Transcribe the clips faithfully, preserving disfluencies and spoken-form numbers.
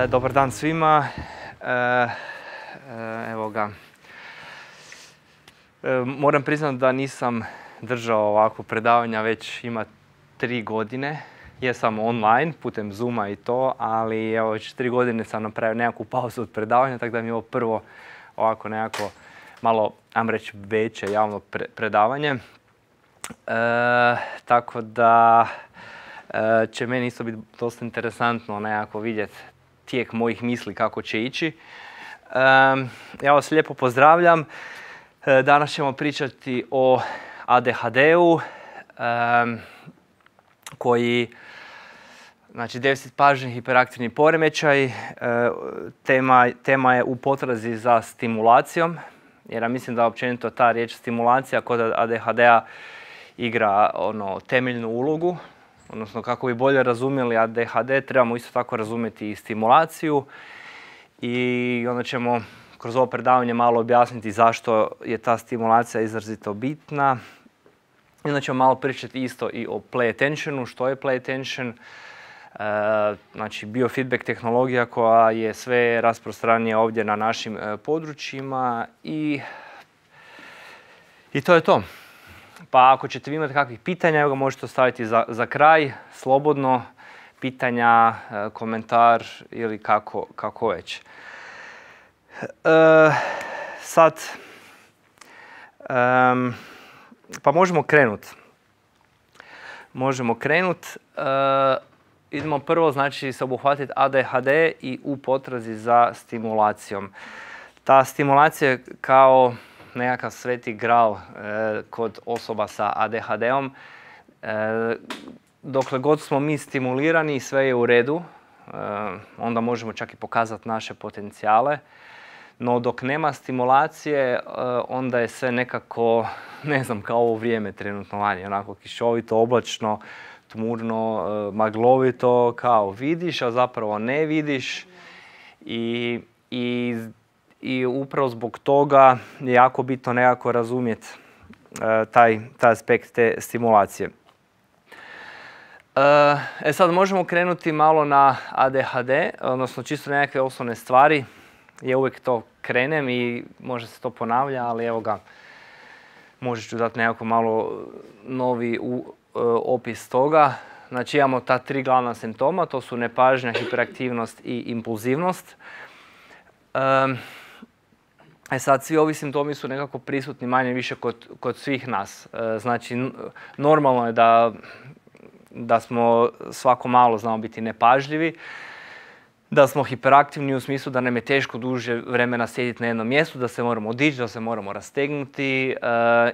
E, dobar dan svima. E, e, evo ga. E, moram priznati da nisam držao ovako predavanja već ima tri godine. Jesam online, putem Zooma i to, ali evo već tri godine sam napravio nekakvu pauzu od predavanja, tako da mi je ovo prvo ovako nekako malo, ajmo reći, veće javno pre predavanje. E, tako da e, će meni isto biti dosta interesantno nekako vidjeti tijek mojih misli kako će ići. E, ja vas lijepo pozdravljam. E, danas ćemo pričati o A D H D-u e, koji, znači deficit pažnje, hiperaktivni poremećaj. E, tema, tema je u potrazi za stimulacijom, jer ja mislim da općenito ta riječ stimulacija kod A D H D-a igra ono, temeljnu ulogu. Odnosno, kako bi bolje razumjeli A D H D, trebamo isto tako razumjeti i stimulaciju. I onda ćemo kroz ovo predavanje malo objasniti zašto je ta stimulacija izrazito bitna. I onda ćemo malo pričati isto i o play attentionu, što je play attention. E, znači, biofeedback tehnologija koja je sve rasprostranija ovdje na našim e, područjima. I, I to je to. Pa ako ćete vi imati kakvih pitanja, evo ga možete ostaviti za, za kraj, slobodno, pitanja, e, komentar ili kako, kako već. E, sad, um, pa možemo krenuti. Možemo krenuti. E, idemo prvo, znači, se obuhvatiti A D H D i u potrazi za stimulacijom. Ta stimulacija je kao nekakav sveti gral e, kod osoba sa A D H D-om. E, dokle god smo mi stimulirani i sve je u redu, e, onda možemo čak i pokazati naše potencijale. No dok nema stimulacije, e, onda je sve nekako, ne znam, kao ovo vrijeme trenutno vani, onako kišovito, oblačno, tmurno, e, maglovito, kao vidiš, a zapravo ne vidiš. I, i I upravo zbog toga je jako bitno nekako razumjeti e, taj, taj aspekt te stimulacije. E, e sad možemo krenuti malo na A D H D, odnosno čisto nekakve osnovne stvari. Ja uvijek to krenem i možda se to ponavlja, ali evo ga, možda ću dati nekako malo novi u, e, opis toga. Znači imamo ta tri glavna simptoma, to su nepažnja, hiperaktivnost i impulzivnost. E, E sad, svi ovi simptomi su nekako prisutni manje više kod, kod svih nas. E, znači, normalno je da, da smo svako malo znamo biti nepažljivi, da smo hiperaktivni u smislu da nam je teško duže vremena sjediti na jednom mjestu, da se moramo dići, da se moramo rastegnuti e,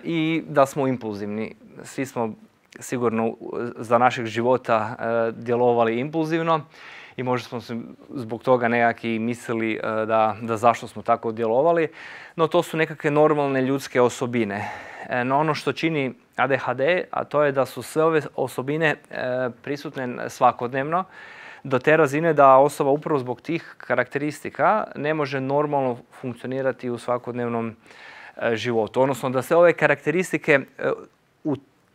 i da smo impulzivni. Svi smo sigurno za našeg života e, djelovali impulzivno. I možda smo se zbog toga nekaki mislili da, da zašto smo tako djelovali, no to su nekakve normalne ljudske osobine. No ono što čini A D H D, a to je da su sve ove osobine prisutne svakodnevno, do te razine da osoba upravo zbog tih karakteristika ne može normalno funkcionirati u svakodnevnom životu. Odnosno da sve ove karakteristike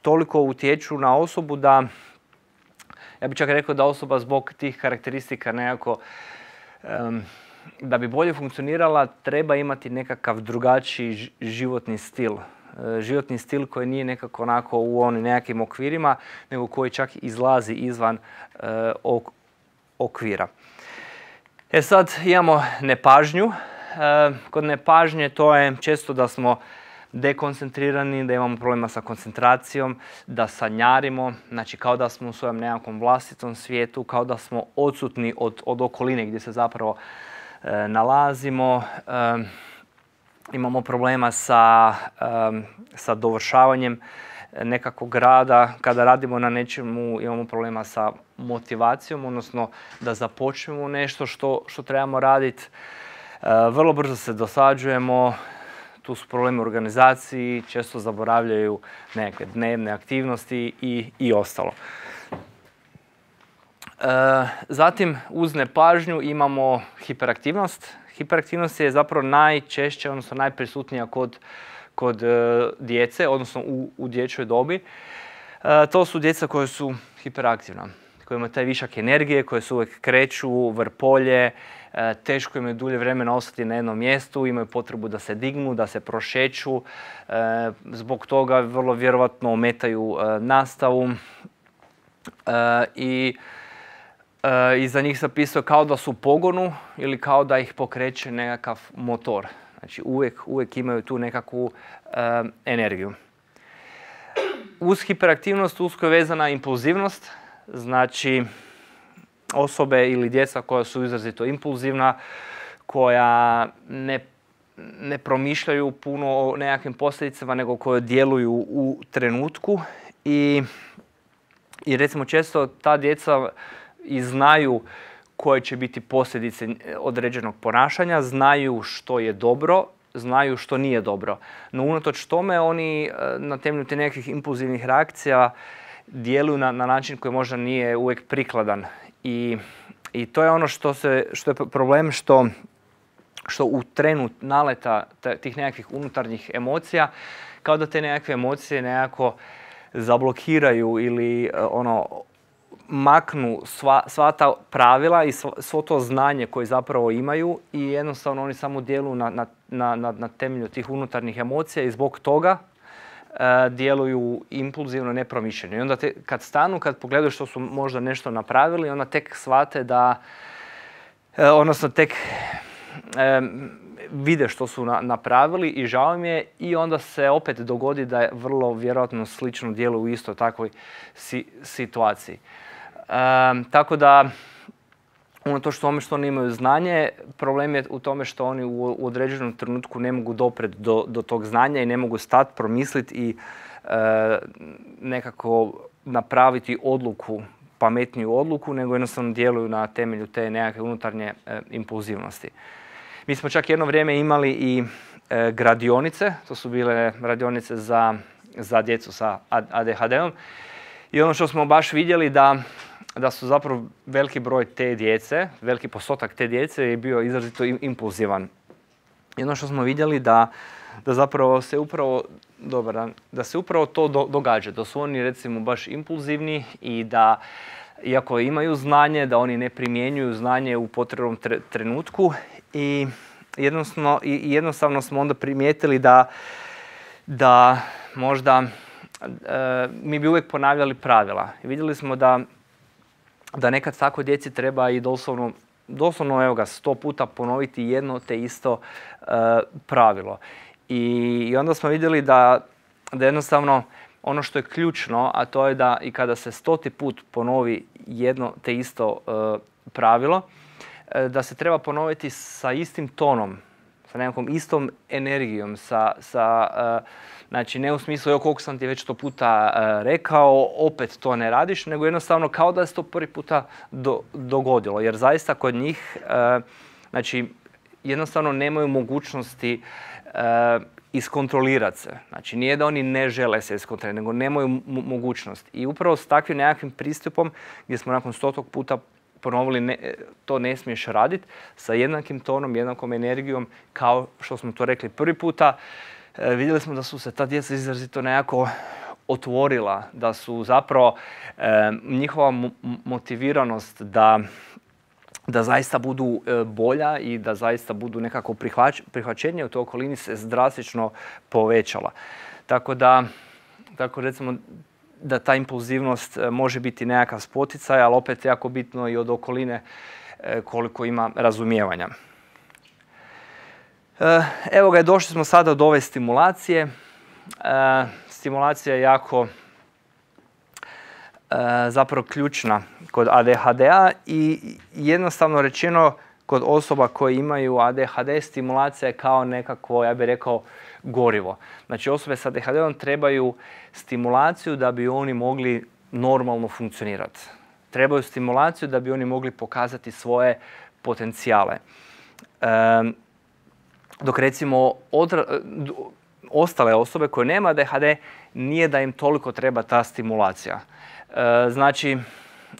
toliko utječu na osobu da, ja bih čak rekao da osoba zbog tih karakteristika nekako, um, da bi bolje funkcionirala, treba imati nekakav drugačiji životni stil. Uh, životni stil koji nije nekako onako u onim nekakvim okvirima, nego koji čak izlazi izvan uh, ok okvira. E sad imamo nepažnju. Uh, kod nepažnje to je često da smo dekoncentrirani, da imamo problema sa koncentracijom, da sanjarimo, znači kao da smo u svojem nekakvom vlastitom svijetu, kao da smo odsutni od, od okoline gdje se zapravo e, nalazimo. E, imamo problema sa, e, sa dovršavanjem nekakvog rada. Kada radimo na nečemu imamo problema sa motivacijom, odnosno da započnemo nešto što, što trebamo raditi. E, vrlo brzo se dosađujemo. Tu su problemi u organizaciji, često zaboravljaju neke dnevne aktivnosti i, i ostalo. E, zatim, uz nepažnju imamo hiperaktivnost. Hiperaktivnost je zapravo najčešće, odnosno najprisutnija kod, kod e, djece, odnosno u, u dječjoj dobi. E, to su djeca koja su hiperaktivna. koji imaju taj višak energije, koje se uvijek kreću, vrpolje, teško im je dulje vremena ostati na jednom mjestu, imaju potrebu da se dignu, da se prošeću, zbog toga vrlo vjerojatno ometaju nastavu i i za njih se pisao kao da su u pogonu ili kao da ih pokreće nekakav motor. Znači uvijek, uvijek imaju tu nekakvu energiju. Uz hiperaktivnost usko je vezana impulzivnost, znači osobe ili djeca koja su izrazito impulzivna, koja ne, ne promišljaju puno o nekakvim posljedicama, nego koje djeluju u trenutku i, i recimo često ta djeca i znaju koje će biti posljedice određenog ponašanja, znaju što je dobro, znaju što nije dobro. No unatoč tome oni na temelju te nekakvih impulzivnih reakcija djeluju na, na način koji možda nije uvijek prikladan. I, i to je ono što, se, što je problem, što, što u trenu naleta tih nekakvih unutarnjih emocija, kao da te nekakve emocije nekako zablokiraju ili ono, maknu sva, sva ta pravila i svo, svo to znanje koje zapravo imaju i jednostavno oni samo djeluju na, na, na, na temelju tih unutarnjih emocija i zbog toga e, djeluju impulzivno, nepromišljeno. I onda te, kad stanu, kad pogledaju što su možda nešto napravili, onda tek shvate da, e, odnosno tek e, vide što su na, napravili i žao mi je i onda se opet dogodi da je vrlo vjerojatno slično djeluju u isto takvoj si, situaciji. Um, tako da, unatoč tome što oni imaju znanje, problem je u tome što oni u, u određenom trenutku ne mogu doprijeti do, do tog znanja i ne mogu stati, promisliti i uh, nekako napraviti odluku, pametniju odluku, nego jednostavno djeluju na temelju te nekakve unutarnje uh, impulzivnosti. Mi smo čak jedno vrijeme imali i uh, gradionice, to su bile radionice za, za djecu sa A D H D-om i ono što smo baš vidjeli da da su zapravo veliki broj te djece, veliki postotak te djece je bio izrazito impulzivan. I ono što smo vidjeli da, da zapravo se upravo, dobar dan, da se upravo to do, događa, da su oni recimo baš impulzivni i da iako imaju znanje, da oni ne primjenjuju znanje u potrebnom tre, trenutku i jednostavno, i jednostavno smo onda primijetili da, da možda e, mi bi uvijek ponavljali pravila. I vidjeli smo da da nekad tako djeci treba i doslovno, doslovno evo ga, sto puta ponoviti jedno te isto uh, pravilo. I, I onda smo vidjeli da, da jednostavno ono što je ključno, a to je da i kada se stoti put ponovi jedno te isto uh, pravilo, uh, da se treba ponoviti sa istim tonom, sa nekakvom istom energijom, sa, sa uh, znači ne u smislu, evo koliko sam ti već to puta uh, rekao, opet to ne radiš, nego jednostavno kao da se to prvi puta do, dogodilo. Jer zaista kod njih, uh, znači jednostavno nemaju mogućnosti uh, iskontrolirati se. Znači nije da oni ne žele se iskontrolirati, nego nemaju mogućnost. I upravo s takvim nekakvim pristupom, gdje smo nakon stotog puta ponovili ne, to ne smiješ raditi, sa jednakim tonom, jednakom energijom, kao što smo to rekli prvi puta, e, vidjeli smo da su se ta djeca izrazito nekako otvorila, da su zapravo e, njihova motiviranost da, da zaista budu e, bolja i da zaista budu nekako prihvać, prihvaćenje u toj okolini se drastično povećala. Tako da, tako recimo, da ta impulzivnost može biti nekakav spoticaj, ali opet jako bitno i od okoline koliko ima razumijevanja. Evo ga, došli smo sada do ove stimulacije. Stimulacija je jako zapravo ključna kod A D H D-a i jednostavno rečeno kod osoba koje imaju A D H D stimulacija je kao nekakvo, ja bih rekao, gorivo. Znači osobe s A D H D-om trebaju stimulaciju da bi oni mogli normalno funkcionirati. Trebaju stimulaciju da bi oni mogli pokazati svoje potencijale. E, dok recimo odra, ostale osobe koje nema A D H D nije da im toliko treba ta stimulacija. E, znači,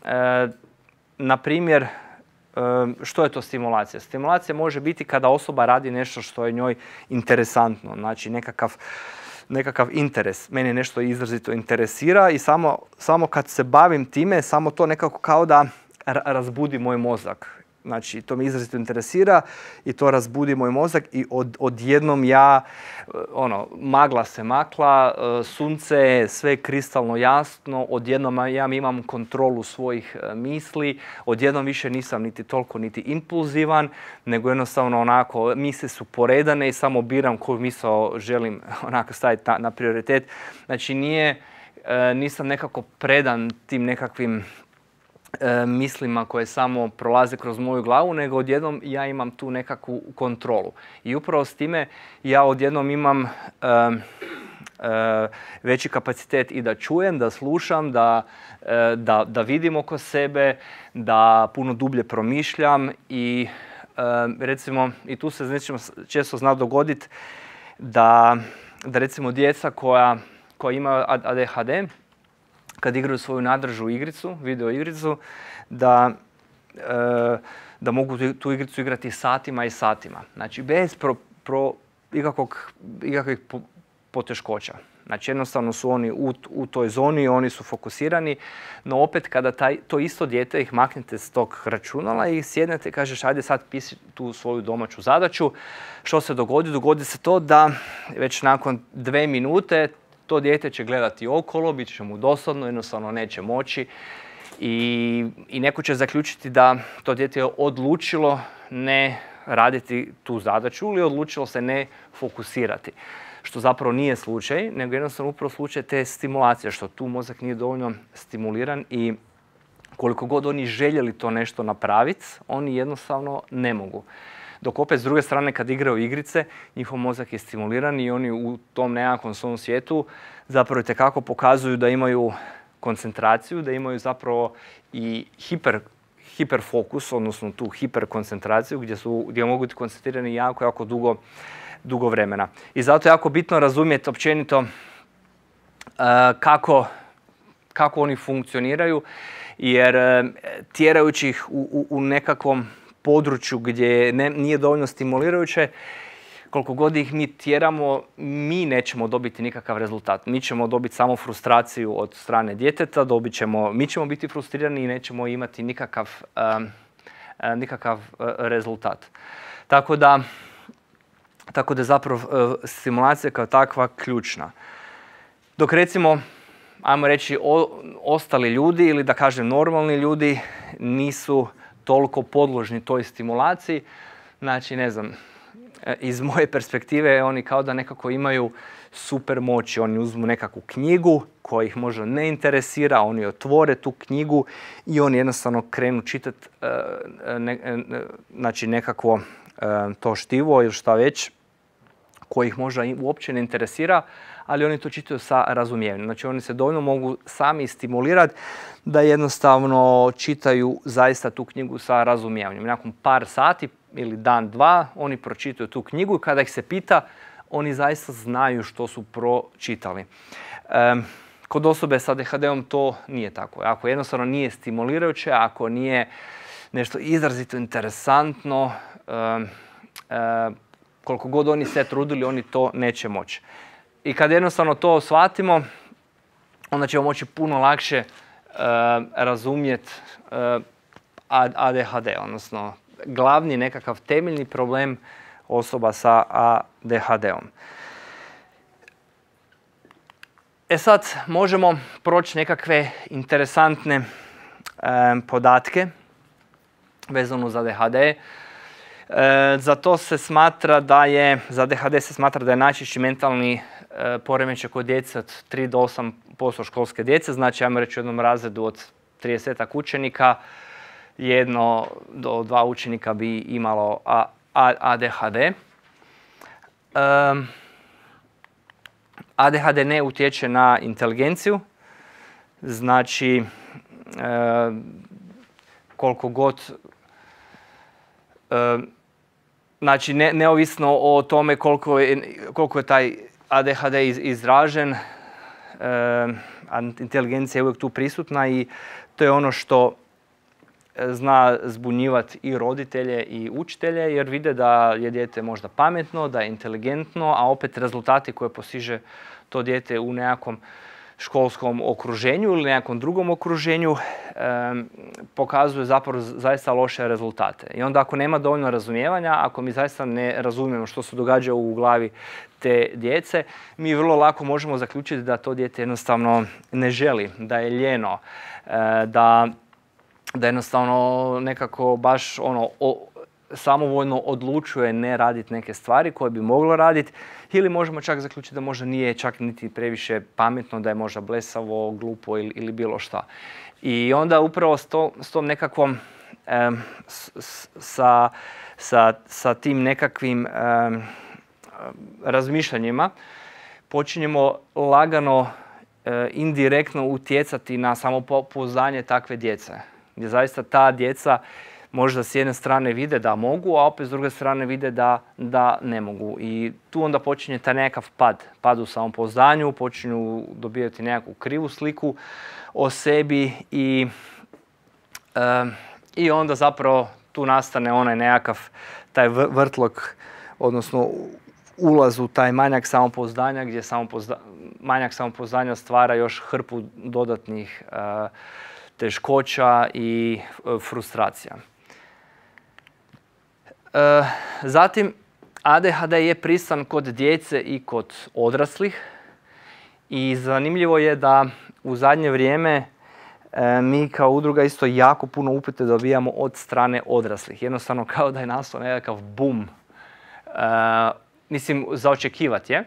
e, na primjer, što je to stimulacija? Stimulacija može biti kada osoba radi nešto što je njoj interesantno, znači nekakav nekakav interes. Mene nešto izrazito interesira i samo, samo kad se bavim time, samo to nekako kao da razbudi moj mozak. Znači, to me izrazito interesira i to razbudi moj mozak i od, odjednom ja, ono, magla se makla, sunce, sve je kristalno jasno, odjednom ja imam kontrolu svojih misli, odjednom više nisam niti toliko niti impulzivan, nego jednostavno onako, misli su poredane i samo biram koju misao želim onako staviti na, na prioritet. Znači, nije, nisam nekako predan tim nekakvim E, mislima koje samo prolaze kroz moju glavu, nego odjednom ja imam tu nekakvu kontrolu. I upravo s time ja odjednom imam e, e, veći kapacitet i da čujem, da slušam, da, e, da, da vidim oko sebe, da puno dublje promišljam i e, recimo, i tu se znači, često zna dogoditi da, da recimo djeca koja, koja imaju A D H D, kad igraju svoju nadržu igricu, video igricu, da, e, da mogu tu igricu igrati satima i satima. Znači, bez pro, pro, ikakvog, ikakvih poteškoća. Znači, jednostavno su oni u, u toj zoni, oni su fokusirani, no opet kada taj, to isto dijete ih maknete s tog računala i sjednete i kažeš, ajde sad pisi tu svoju domaću zadaću. Što se dogodi? Dogodi se to da već nakon dve minute to dijete će gledati okolo, bit će mu dosadno, jednostavno neće moći i, i neko će zaključiti da to dijete je odlučilo ne raditi tu zadaću ili odlučilo se ne fokusirati. Što zapravo nije slučaj, nego jednostavno upravo slučaj te stimulacije, što tu mozak nije dovoljno stimuliran i koliko god oni željeli to nešto napraviti, oni jednostavno ne mogu. Dok opet s druge strane kad igraju igrice, njihov mozak je stimuliran i oni u tom nekakvom svom svijetu zapravo itekako pokazuju da imaju koncentraciju, da imaju zapravo i hiper, hiperfokus, odnosno tu hiperkoncentraciju gdje, su, gdje mogu biti koncentrirani jako, jako dugo, dugo vremena. I zato je jako bitno razumjeti općenito uh, kako, kako oni funkcioniraju, jer uh, tjerajući ih u, u, u nekakvom području gdje ne, nije dovoljno stimulirajuće, koliko god ih mi tjeramo, mi nećemo dobiti nikakav rezultat. Mi ćemo dobiti samo frustraciju od strane djeteta, dobit ćemo, mi ćemo biti frustrirani i nećemo imati nikakav, um, nikakav uh, rezultat. Tako da, tako da je zapravo uh, stimulacija kao takva ključna. Dok recimo, ajmo reći, o, ostali ljudi ili da kažem normalni ljudi nisu toliko podložni toj stimulaciji. Znači, ne znam, iz moje perspektive oni kao da nekako imaju super moći. Oni uzmu nekakvu knjigu koja ih možda ne interesira, oni otvore tu knjigu i oni jednostavno krenu čitati ne, znači nekakvo to štivo ili šta već koje ih možda uopće ne interesira, ali oni to čitaju sa razumijevanjem. Znači oni se dovoljno mogu sami stimulirati da jednostavno čitaju zaista tu knjigu sa razumijevanjem. Nakon par sati ili dan, dva, oni pročitaju tu knjigu i kada ih se pita, oni zaista znaju što su pročitali. E, kod osobe sa A D H D-om to nije tako. Ako jednostavno nije stimulirajuće, ako nije nešto izrazito interesantno, e, e, koliko god oni se trudili, oni to neće moći. I kad jednostavno to shvatimo, onda ćemo moći puno lakše e, razumjeti e, A D H D, odnosno glavni nekakav temeljni problem osoba sa A D H D-om. E sad možemo proći nekakve interesantne e, podatke vezano za A D H D. E, za to se smatra da je, za A D H D se smatra da je najčešći mentalni e, poremećaj kod djece od tri do osam posto školske djece. Znači, ajmo reći u jednom razredu od tridesetak učenika, jedno do dva učenika bi imalo A, A, A D H D. Um, A D H D ne utječe na inteligenciju, znači e, koliko god, e, znači ne, neovisno o tome koliko je, koliko je taj A D H D iz, izražen, e, inteligencija je uvijek tu prisutna i to je ono što zna zbunjivati i roditelje i učitelje jer vide da je dijete možda pametno, da je inteligentno, a opet rezultati koje postiže to dijete u nekakvom školskom okruženju ili nekakvom drugom okruženju um, pokazuje zapravo zaista loše rezultate. I onda ako nema dovoljno razumijevanja, ako mi zaista ne razumijemo što se događa u glavi te djece, mi vrlo lako možemo zaključiti da to dijete jednostavno ne želi, da je ljeno, da, da jednostavno nekako baš ono, o, samovoljno odlučuje ne raditi neke stvari koje bi moglo raditi, ili možemo čak zaključiti da možda nije čak niti previše pametno, da je možda blesavo, glupo ili, ili bilo šta. I onda upravo s, to, s tom nekakvom, um, s, sa, sa, sa tim nekakvim um, razmišljanjima počinjemo lagano, uh, indirektno utjecati na samopouzdanje takve djece. Gdje zaista ta djeca možda s jedne strane vide da mogu, a opet s druge strane vide da, da ne mogu. I tu onda počinje taj nekakav pad. Pad u samopouzdanju, počinju dobivati nekakvu krivu sliku o sebi i, e, i onda zapravo tu nastane onaj nekakav taj vrtlog, odnosno ulaz u taj manjak samopouzdanja, gdje samopouzda, manjak samopouzdanja stvara još hrpu dodatnih e, teškoća i e, frustracija. E, zatim, A D H D je prisutan kod djece i kod odraslih i zanimljivo je da u zadnje vrijeme e, mi kao udruga isto jako puno upite dobijamo od strane odraslih. Jednostavno kao da je nastao nekakav boom. E, mislim, za očekivati je.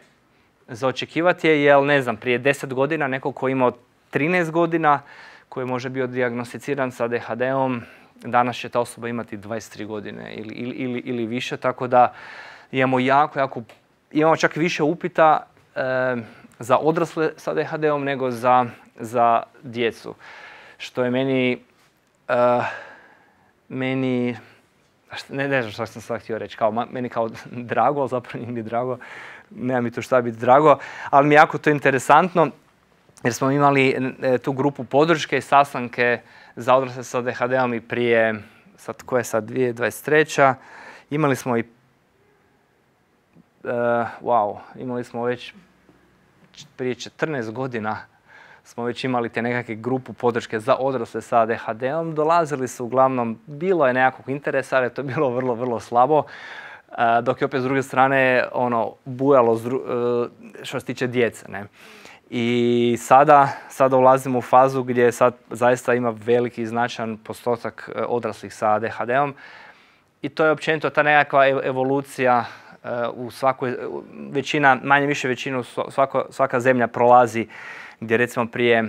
Za očekivati je jer, ne znam, prije deset godina neko ko je imao trinaest godina, koji je možda bio dijagnosticiran sa A D H D-om, danas će ta osoba imati dvadeset tri godine ili, ili, ili više, tako da imamo jako, jako, imamo čak više upita e, za odrasle sa A D H D-om nego za, za djecu. Što je meni, e, meni ne, ne znam što sam sad htio reći, kao, meni kao drago, ali zapravo nije mi drago, nema mi to šta biti drago, ali mi je jako to interesantno jer smo imali e, tu grupu podrške i sastanke za odrasle sa A D H D-om i prije, sad koja je sad dvije tisuće dvadeset treća. Imali smo i, uh, wow, imali smo već prije četrnaest godina smo već imali te nekakve grupu podrške za odrasle sa A D H D-om. Dolazili su uglavnom, bilo je nekakvog interesa, ali je to bilo vrlo, vrlo slabo. Uh, dok je opet s druge strane ono, bujalo zru, uh, što se tiče djece, ne. I sada, sada ulazimo u fazu gdje sad zaista ima veliki i značajan postotak odraslih sa A D H D-om i to je općenito ta nekakva evolucija u svakoj, većina, manje više većinu svako, svaka zemlja prolazi gdje recimo prije,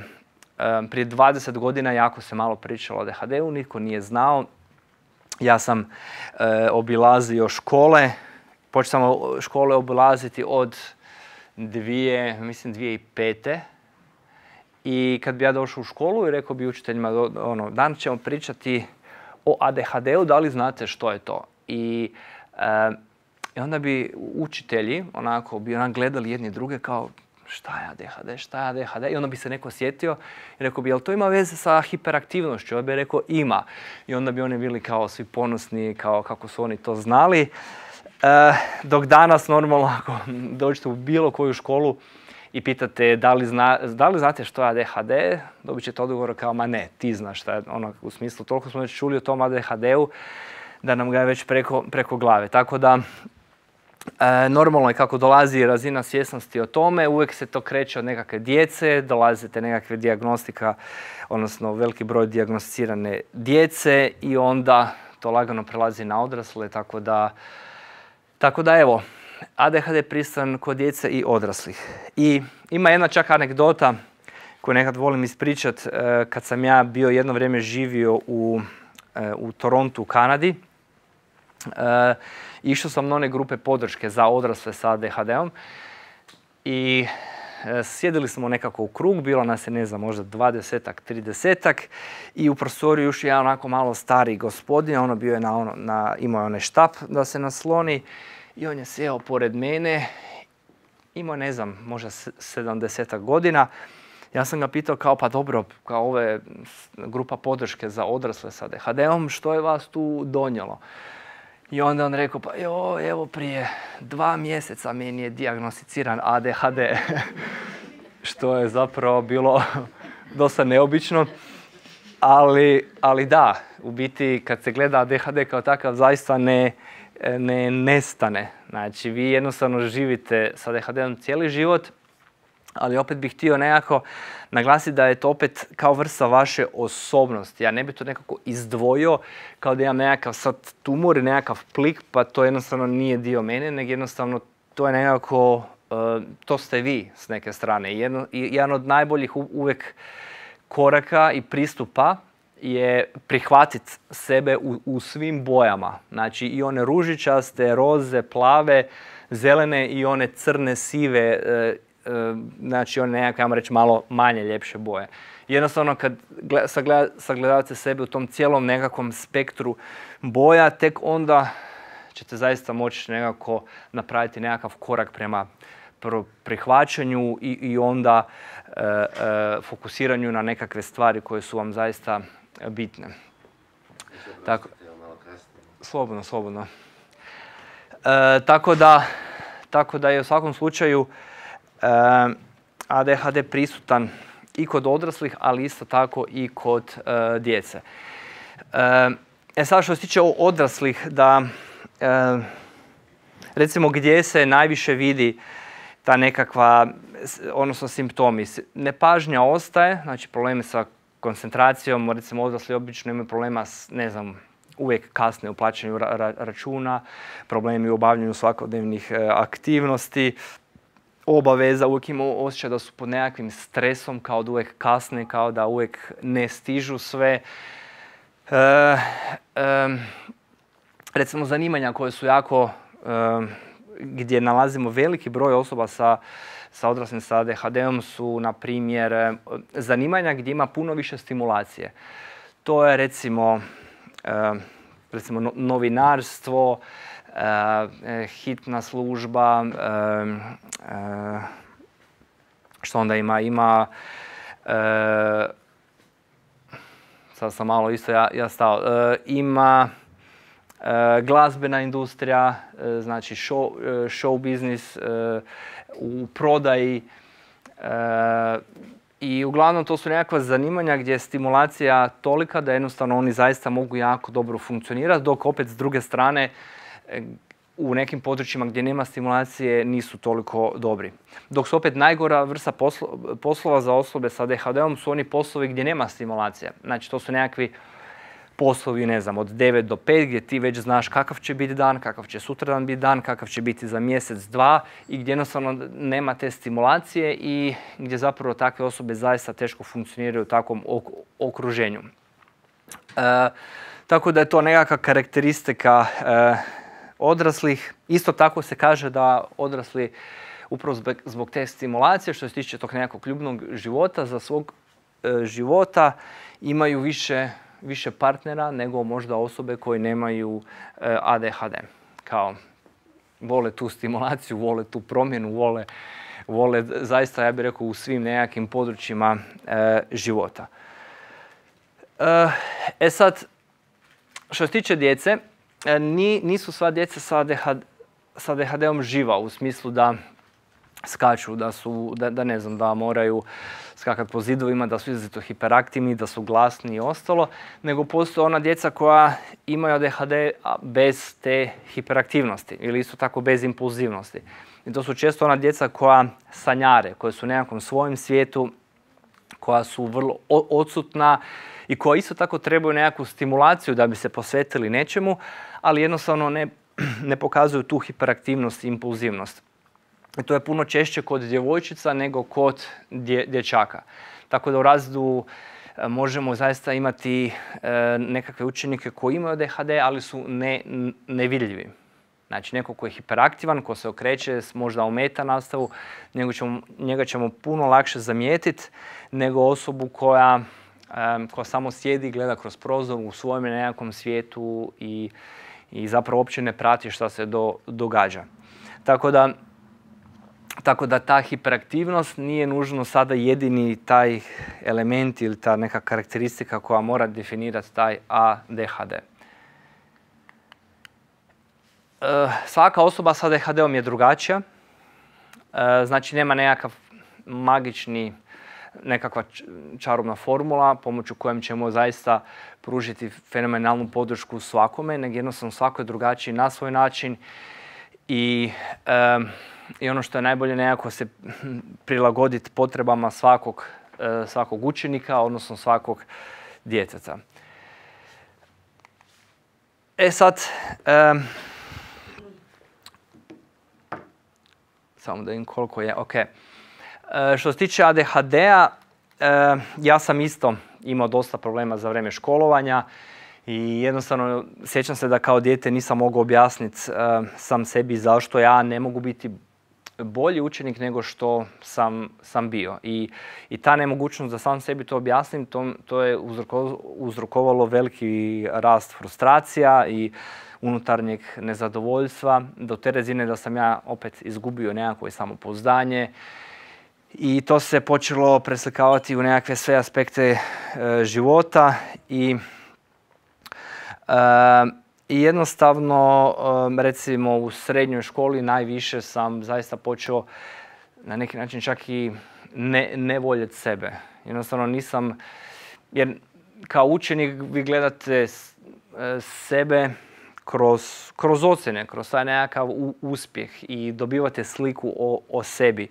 prije dvadeset godina jako se malo pričalo o A D H D-u, nitko nije znao. Ja sam obilazio škole, počeo sam škole obilaziti od dvije, mislim dvije tisuće pete. I kad bi ja došao u školu i rekao bi učiteljima, ono, danas ćemo pričati o A D H D-u, da li znate što je to? I, e, i onda bi učitelji onako bi onak gledali jedni druge kao šta je A D H D, šta je A D H D? I onda bi se neko sjetio i rekao bi, jel to ima veze sa hiperaktivnošću? On bi rekao, ima. I onda bi oni bili kao svi ponosni, kao kako su oni to znali. E, dok danas normalno ako dođete u bilo koju školu i pitate da li, zna, da li znate što je A D H D, dobit ćete odgovor kao ma ne, ti znaš šta je, ono, u smislu toliko smo već čuli o tom A D H D-u da nam ga je već preko, preko glave. Tako da e, normalno je kako dolazi razina svjesnosti o tome, uvijek se to kreće od nekakve djece, dolazite nekakve dijagnostika, odnosno veliki broj dijagnosticirane djece i onda to lagano prelazi na odrasle, tako da Tako da evo, A D H D je prisutan kod djece i odraslih. I ima jedna čak anegdota koju nekad volim ispričat. Kad sam ja bio jedno vrijeme živio u, u Torontu u Kanadi, išao sam na one grupe podrške za odrasle sa A D H D-om i sjedili smo nekako u krug, bilo nas je, ne znam, možda dvadesetak, tridesetak i u prostoriju ušao jedan onako malo stari gospodin, ono bio je na, ono, na, imao je onaj štap da se nasloni i on je sjeo pored mene, imao, ne znam, možda sedamdesetak godina. Ja sam ga pitao kao, pa dobro, kao ovo je grupa podrške za odrasle sa A D H D-om, što je vas tu donijelo? I onda on rekao, pa jo, evo prije dva mjeseca meni je dijagnosticiran A D H D. Što je zapravo bilo dosta neobično. Ali, ali da, u biti kad se gleda A D H D kao takav zaista ne, ne nestane. Znači vi jednostavno živite sa A D H D-om cijeli život, ali opet bih htio nekako naglasiti da je to opet kao vrsta vaše osobnosti. Ja ne bih to nekako izdvojio kao da imam nekakav sad tumor i nekakav plik, pa to jednostavno nije dio mene, nego jednostavno to je nekako, uh, to ste vi s neke strane. Jedno, jedan od najboljih uvijek koraka i pristupa je prihvatiti sebe u, u svim bojama. Znači i one ružičaste, roze, plave, zelene i one crne, sive, e, e, znači one nekakve, ajmo reći, malo manje ljepše boje. Jednostavno kad sagleda, sagledavate sebe u tom cijelom nekakvom spektru boja, tek onda ćete zaista moći nekako napraviti nekakav korak prema prihvaćanju i, i onda e, e, fokusiranju na nekakve stvari koje su vam zaista bitne. Tako, slobodno, slobodno. E, tako, da, tako da je u svakom slučaju e, A D H D prisutan i kod odraslih, ali isto tako i kod e, djece. E, e sad što se tiče odraslih, da e, recimo gdje se najviše vidi ta nekakva, odnosno simptomi. Nepažnja ostaje, znači problemi sa koncentracijom, recimo odrasli obično imaju problema s, ne znam, uvijek kasne u plaćanju ra- ra- računa, problemi u obavljanju svakodnevnih e, aktivnosti, obaveza, uvijek imaju osjećaj da su pod nekakvim stresom, kao da uvijek kasne, kao da uvijek ne stižu sve. E, e, recimo zanimanja koje su jako, e, gdje nalazimo veliki broj osoba sa, sa odraslim sa A D H D-om su, na primjer, zanimanja gdje ima puno više stimulacije. To je recimo, e, recimo novinarstvo, e, hitna služba, e, e, što onda ima, ima, e, sad sam malo isto ja, ja stao, e, ima e, glazbena industrija, e, znači show, show biznis, e, u prodaji, e, i uglavnom to su nekakva zanimanja gdje je stimulacija tolika da jednostavno oni zaista mogu jako dobro funkcionirati, dok opet s druge strane u nekim područjima gdje nema stimulacije nisu toliko dobri. Dok su opet najgora vrsta poslo, poslova za osobe sa A D H D-om su oni poslovi gdje nema stimulacije. Znači to su nekakvi poslovi, ne znam, od devet do pet gdje ti već znaš kakav će biti dan, kakav će sutradan biti dan, kakav će biti za mjesec, dva i gdje jednostavno nema te stimulacije i gdje zapravo takve osobe zaista teško funkcioniraju u takvom ok- okruženju. E, tako da je to nekakva karakteristika e, odraslih. Isto tako se kaže da odrasli upravo zbog, zbog te stimulacije, što se tiče tog nekakvog ljubnog života, za svog e, života imaju više više partnera nego možda osobe koje nemaju e, A D H D. Kao, vole tu stimulaciju, vole tu promjenu, vole, vole zaista, ja bih rekao, u svim nekakvim područjima e, života. E, e sad, što se tiče djece, e, ni, nisu sva djeca sa A D H D-om živa u smislu da skaču, da su, da, da ne znam, da moraju skakati po zidovima, da su izrazito hiperaktivni, da su glasni i ostalo, nego postoje ona djeca koja imaju A D H D bez te hiperaktivnosti ili isto tako bez impulzivnosti. I to su često ona djeca koja sanjare, koja su u nekakvom svojem svijetu, koja su vrlo odsutna i koja isto tako trebaju nekakvu stimulaciju da bi se posvetili nečemu, ali jednostavno ne, ne pokazuju tu hiperaktivnost i impulzivnost. I to je puno češće kod djevojčica nego kod dje, dječaka. Tako da u razredu e, možemo zaista imati e, nekakve učenike koji imaju A D H D, ali su ne, nevidljivi. Znači neko ko je hiperaktivan, ko se okreće, možda ometa nastavu, njega ćemo, njega ćemo puno lakše zamijetiti nego osobu koja, e, koja samo sjedi i gleda kroz prozor u svojem nekakvom svijetu i, i zapravo uopće ne prati šta se do, događa. Tako da Tako da ta hiperaktivnost nije nužno sada jedini taj element ili ta neka karakteristika koja mora definirati taj A D H D. svaka osoba s A D H D-om je drugačija. Znači nema nekakav magični, nekakva čarobna formula pomoću kojem ćemo zaista pružiti fenomenalnu podršku svakome, nego jednostavno svako je drugačiji na svoj način i, um, i ono što je najbolje nekako se prilagoditi potrebama svakog, uh, svakog učenika, odnosno svakog djeteta. E sad, um, samo da vidim koliko je, ok. E, što se tiče A D H D-a, e, ja sam isto imao dosta problema za vrijeme školovanja i jednostavno sjećam se da kao dijete nisam mogao objasniti e, sam sebi zašto ja ne mogu biti bolji učenik nego što sam, sam bio. I, I ta nemogućnost da sam sebi to objasnim, to, to je uzroko, uzrokovalo veliki rast frustracija i unutarnjeg nezadovoljstva, do te razine da sam ja opet izgubio nekakvo samopouzdanje i to se počelo preslikavati u nekakve sve aspekte e, života i, e, i jednostavno e, recimo u srednjoj školi najviše sam zaista počeo na neki način čak i ne, ne voljeti sebe. Jednostavno nisam, jer kao učenik vi gledate sebe Kroz, kroz ocjene, kroz taj nekakav u, uspjeh i dobivate sliku o, o sebi. E,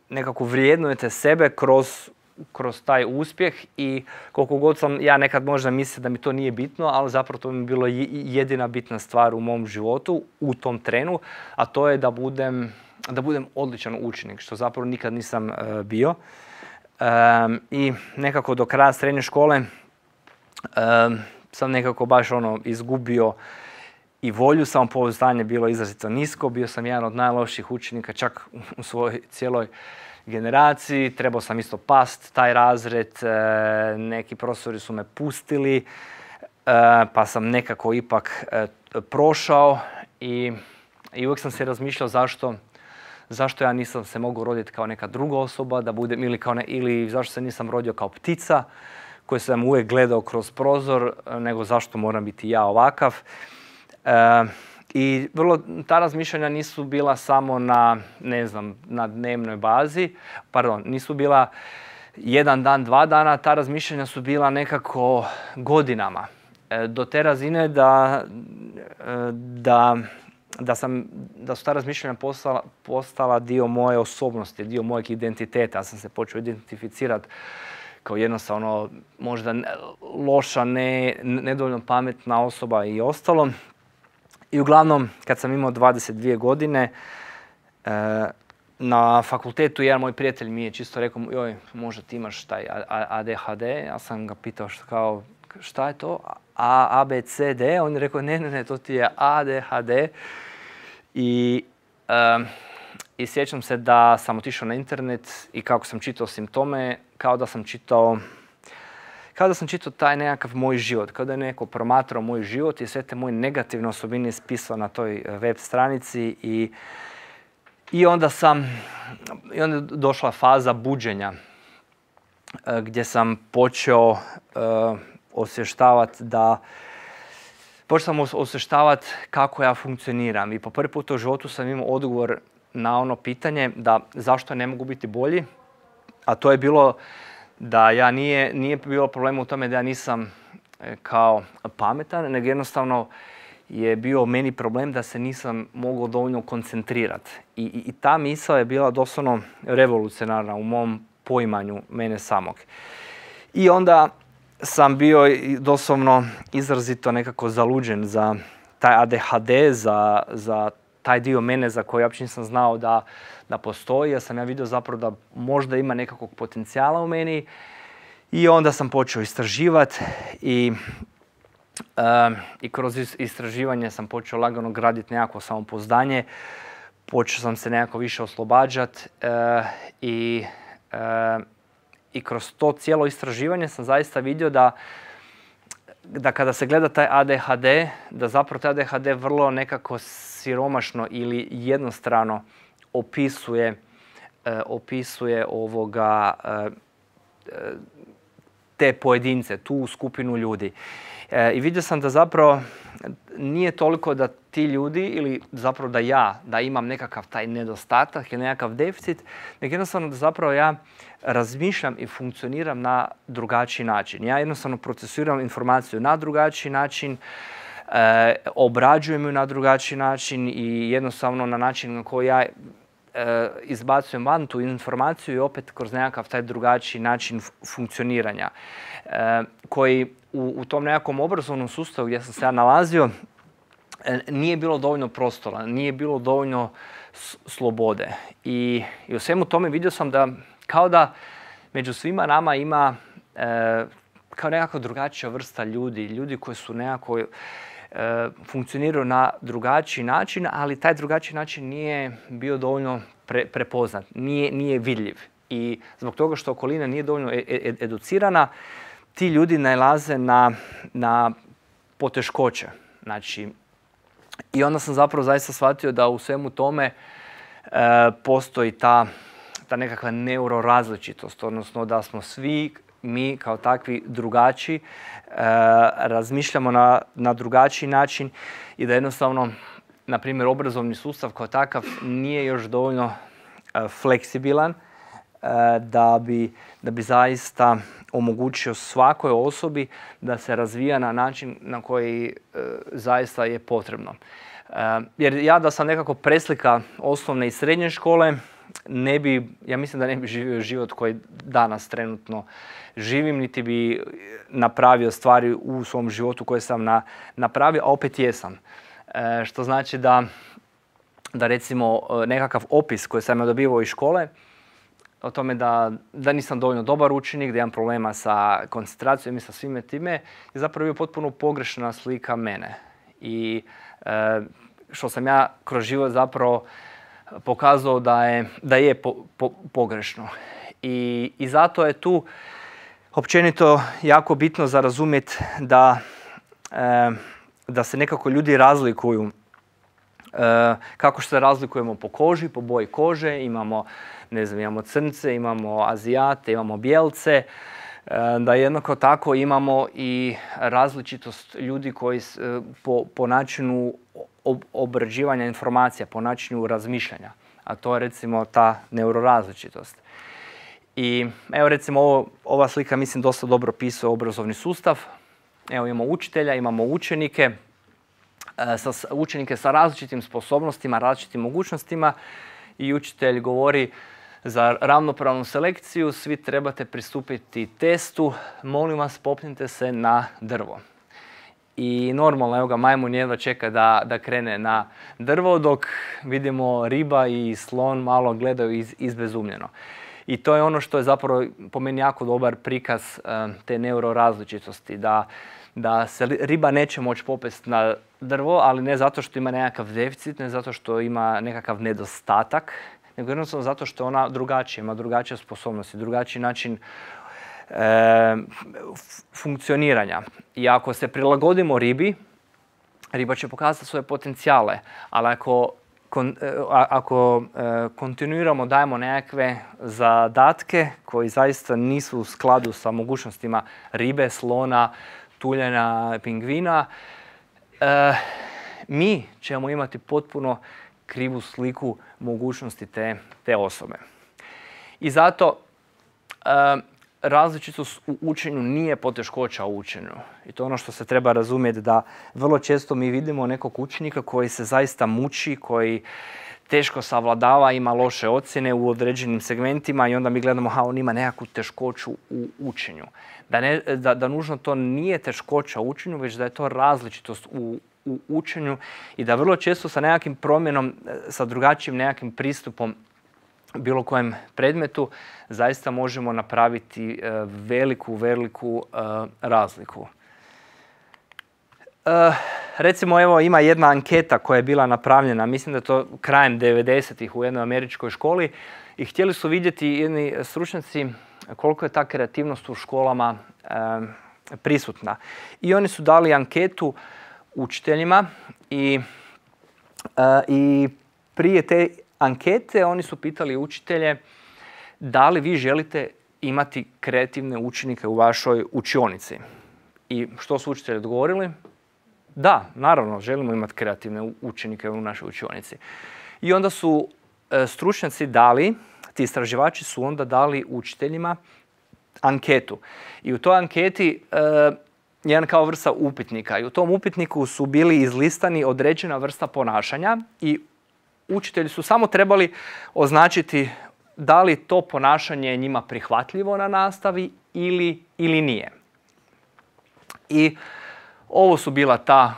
nekako vrijednujete sebe kroz, kroz taj uspjeh i koliko god sam ja nekad možda mislio da mi to nije bitno, ali zapravo to mi je bilo jedina bitna stvar u mom životu u tom trenu, a to je da budem, da budem odličan učenik, što zapravo nikad nisam e, bio. E, I nekako do kraja srednje škole e, sam nekako baš ono izgubio i volju, samopouzdanje bilo izrazito nisko, bio sam jedan od najlošijih učenika čak u svojoj cijeloj generaciji, trebao sam isto past taj razred, neki profesori su me pustili, pa sam nekako ipak prošao i, i uvijek sam se razmišljao zašto, zašto ja nisam se mogao roditi kao neka druga osoba, da budem, ili, kao ne, ili zašto se nisam rodio kao ptica, koji sam uvijek gledao kroz prozor, nego zašto moram biti ja ovakav. E, I vrlo, ta razmišljanja nisu bila samo na, ne znam, na dnevnoj bazi, pardon, nisu bila jedan dan, dva dana, ta razmišljanja su bila nekako godinama. E, do te razine da, da, da, sam, da su ta razmišljanja postala, postala dio moje osobnosti, dio mojeg identiteta. Ja sam se počeo identificirati kao jednostavno možda loša, ne, nedovoljno pametna osoba i ostalo. I uglavnom, kad sam imao dvadeset dvije godine, e, na fakultetu jedan moj prijatelj mi je čisto rekao, joj, možda ti imaš taj A D H D. Ja sam ga pitao šta, kao, šta je to? A, A, B, C, D? On je rekao, ne, ne, ne, to ti je A D H D. I... E, I sjećam se da sam otišao na internet i kako sam čitao simptome, kao da sam čitao, kao da sam čitao taj nekakav moj život, kao da je neko promatrao moj život i sve te moje negativne osobine ispisao na toj web stranici i, i onda sam, i onda je došla faza buđenja gdje sam počeo uh, osvještavati da počeo sam osvještavati kako ja funkcioniram i po prvi put u životu sam imao odgovor na ono pitanje da zašto ne mogu biti bolji, a to je bilo da ja nije, nije bilo problema u tome da ja nisam kao pametan, nego jednostavno je bio meni problem da se nisam mogao dovoljno koncentrirati. I, i, i ta misao je bila doslovno revolucionarna u mom poimanju mene samog. I onda sam bio doslovno izrazito nekako zaluđen za taj A D H D, za, za taj dio mene za koji uopće nisam znao da, da postoji. Ja sam ja vidio zapravo da možda ima nekakvog potencijala u meni i onda sam počeo istraživati i, uh, i kroz istraživanje sam počeo lagano graditi nekako samopouzdanje. Počeo sam se nekako više oslobađati uh, i, uh, i kroz to cijelo istraživanje sam zaista vidio da da kada se gleda taj A D H D, da zapravo taj A D H D vrlo nekako siromašno ili jednostrano opisuje, uh, opisuje ovoga uh, te pojedince, tu skupinu ljudi. E, I vidio sam da zapravo nije toliko da ti ljudi ili zapravo da ja, da imam nekakav taj nedostatak ili nekakav deficit, nego jednostavno da zapravo ja razmišljam i funkcioniram na drugačiji način. Ja jednostavno procesuiram informaciju na drugačiji način, e, obrađujem ju na drugačiji način i jednostavno na način na koji ja e, izbacujem van tu informaciju i opet kroz nekakav taj drugačiji način funkcioniranja. E, koji u, u tom nekakvom obrazovnom sustavu gdje sam se ja nalazio e, nije bilo dovoljno prostora, nije bilo dovoljno slobode. I, i u svemu tome vidio sam da kao da među svima nama ima e, kao nekako drugačija vrsta ljudi, ljudi koji su nekako e, funkcioniraju na drugačiji način, ali taj drugačiji način nije bio dovoljno pre, prepoznat, nije, nije vidljiv. I zbog toga što okolina nije dovoljno ed, educirana, ti ljudi nailaze na, na poteškoće. Znači, i onda sam zapravo zaista shvatio da u svemu tome e, postoji ta, ta nekakva neurorazličitost, odnosno da smo svi mi kao takvi drugačiji, e, razmišljamo na, na drugačiji način i da jednostavno, na primjer, obrazovni sustav kao takav nije još dovoljno e, fleksibilan e, da bi, da bi zaista omogućio svakoj osobi da se razvija na način na koji e, zaista je potrebno. E, jer ja da sam nekako preslika osnovne i srednje škole, ne bi, ja mislim da ne bi živio život koji danas trenutno živim, niti bi napravio stvari u svom životu koje sam na, napravio, a opet jesam. E, što znači da, da recimo nekakav opis koji sam ja dobivao iz škole, o tome da, da nisam dovoljno dobar učenik, da imam problema sa koncentracijom i sa svime time, je zapravo bio potpuno pogrešna slika mene. I e, što sam ja kroz život zapravo pokazao da je, da je po, po, pogrešno. I, I zato je tu općenito jako bitno za razumjeti da, e, da se nekako ljudi razlikuju. E, kako se razlikujemo po koži, po boji kože, imamo, ne znam, imamo crnce, imamo azijate, imamo bijelce, e, da jednako tako imamo i različitost ljudi koji e, po, po načinu obrađivanja informacija, po načinu razmišljanja, a to je recimo ta neurorazličitost. I evo recimo ovo, ova slika mislim dosta dobro opisuje obrazovni sustav. Evo imamo učitelja, imamo učenike, e, sa, učenike sa različitim sposobnostima, različitim mogućnostima i učitelj govori za ravnopravnu selekciju svi trebate pristupiti testu, molim vas popnite se na drvo. I normalno, evo ga, majmun jedva čeka da, da krene na drvo, dok vidimo riba i slon malo gledaju iz, izbezumljeno. I to je ono što je zapravo po meni jako dobar prikaz um, te neurorazličitosti, da, da se riba neće moći popesti na drvo, ali ne zato što ima nekakav deficit, ne zato što ima nekakav nedostatak, nego jednostavno zato što ona drugačija, ima drugačije sposobnosti, drugačiji način E, funkcioniranja. I ako se prilagodimo ribi, riba će pokazati svoje potencijale, ali ako, kon, ako e, kontinuiramo, dajemo nekakve zadatke koji zaista nisu u skladu sa mogućnostima ribe, slona, tuljana, pingvina, e, mi ćemo imati potpuno krivu sliku mogućnosti te, te osobe. I zato e, različitost u učenju nije poteškoća u učenju. I to je ono što se treba razumjeti, da vrlo često mi vidimo nekog učenika koji se zaista muči, koji teško savladava, ima loše ocjene u određenim segmentima i onda mi gledamo ha, on ima nekakvu teškoću u učenju. Da, ne, da, da nužno to nije teškoća u učenju, već da je to različitost u, u učenju i da vrlo često sa nekakvim promjenom, sa drugačijim nekakvim pristupom bilo kojem predmetu zaista možemo napraviti e, veliku, veliku e, razliku. E, recimo, evo, ima jedna anketa koja je bila napravljena, mislim da je to krajem devedesetih u jednoj američkoj školi i htjeli su vidjeti jedni stručnjaci koliko je ta kreativnost u školama e, prisutna. I oni su dali anketu učiteljima i, e, i prije te ankete oni su pitali učitelje da li vi želite imati kreativne učenike u vašoj učionici? I što su učitelji odgovorili? Da, naravno, želimo imati kreativne učenike u našoj učionici. I onda su e, stručnjaci dali, ti istraživači su onda dali učiteljima anketu. I u toj anketi e, jedan kao vrsta upitnika. I u tom upitniku su bili izlistani određena vrsta ponašanja i učitelji su samo trebali označiti da li to ponašanje je njima prihvatljivo na nastavi ili, ili nije. I ovo su bila ta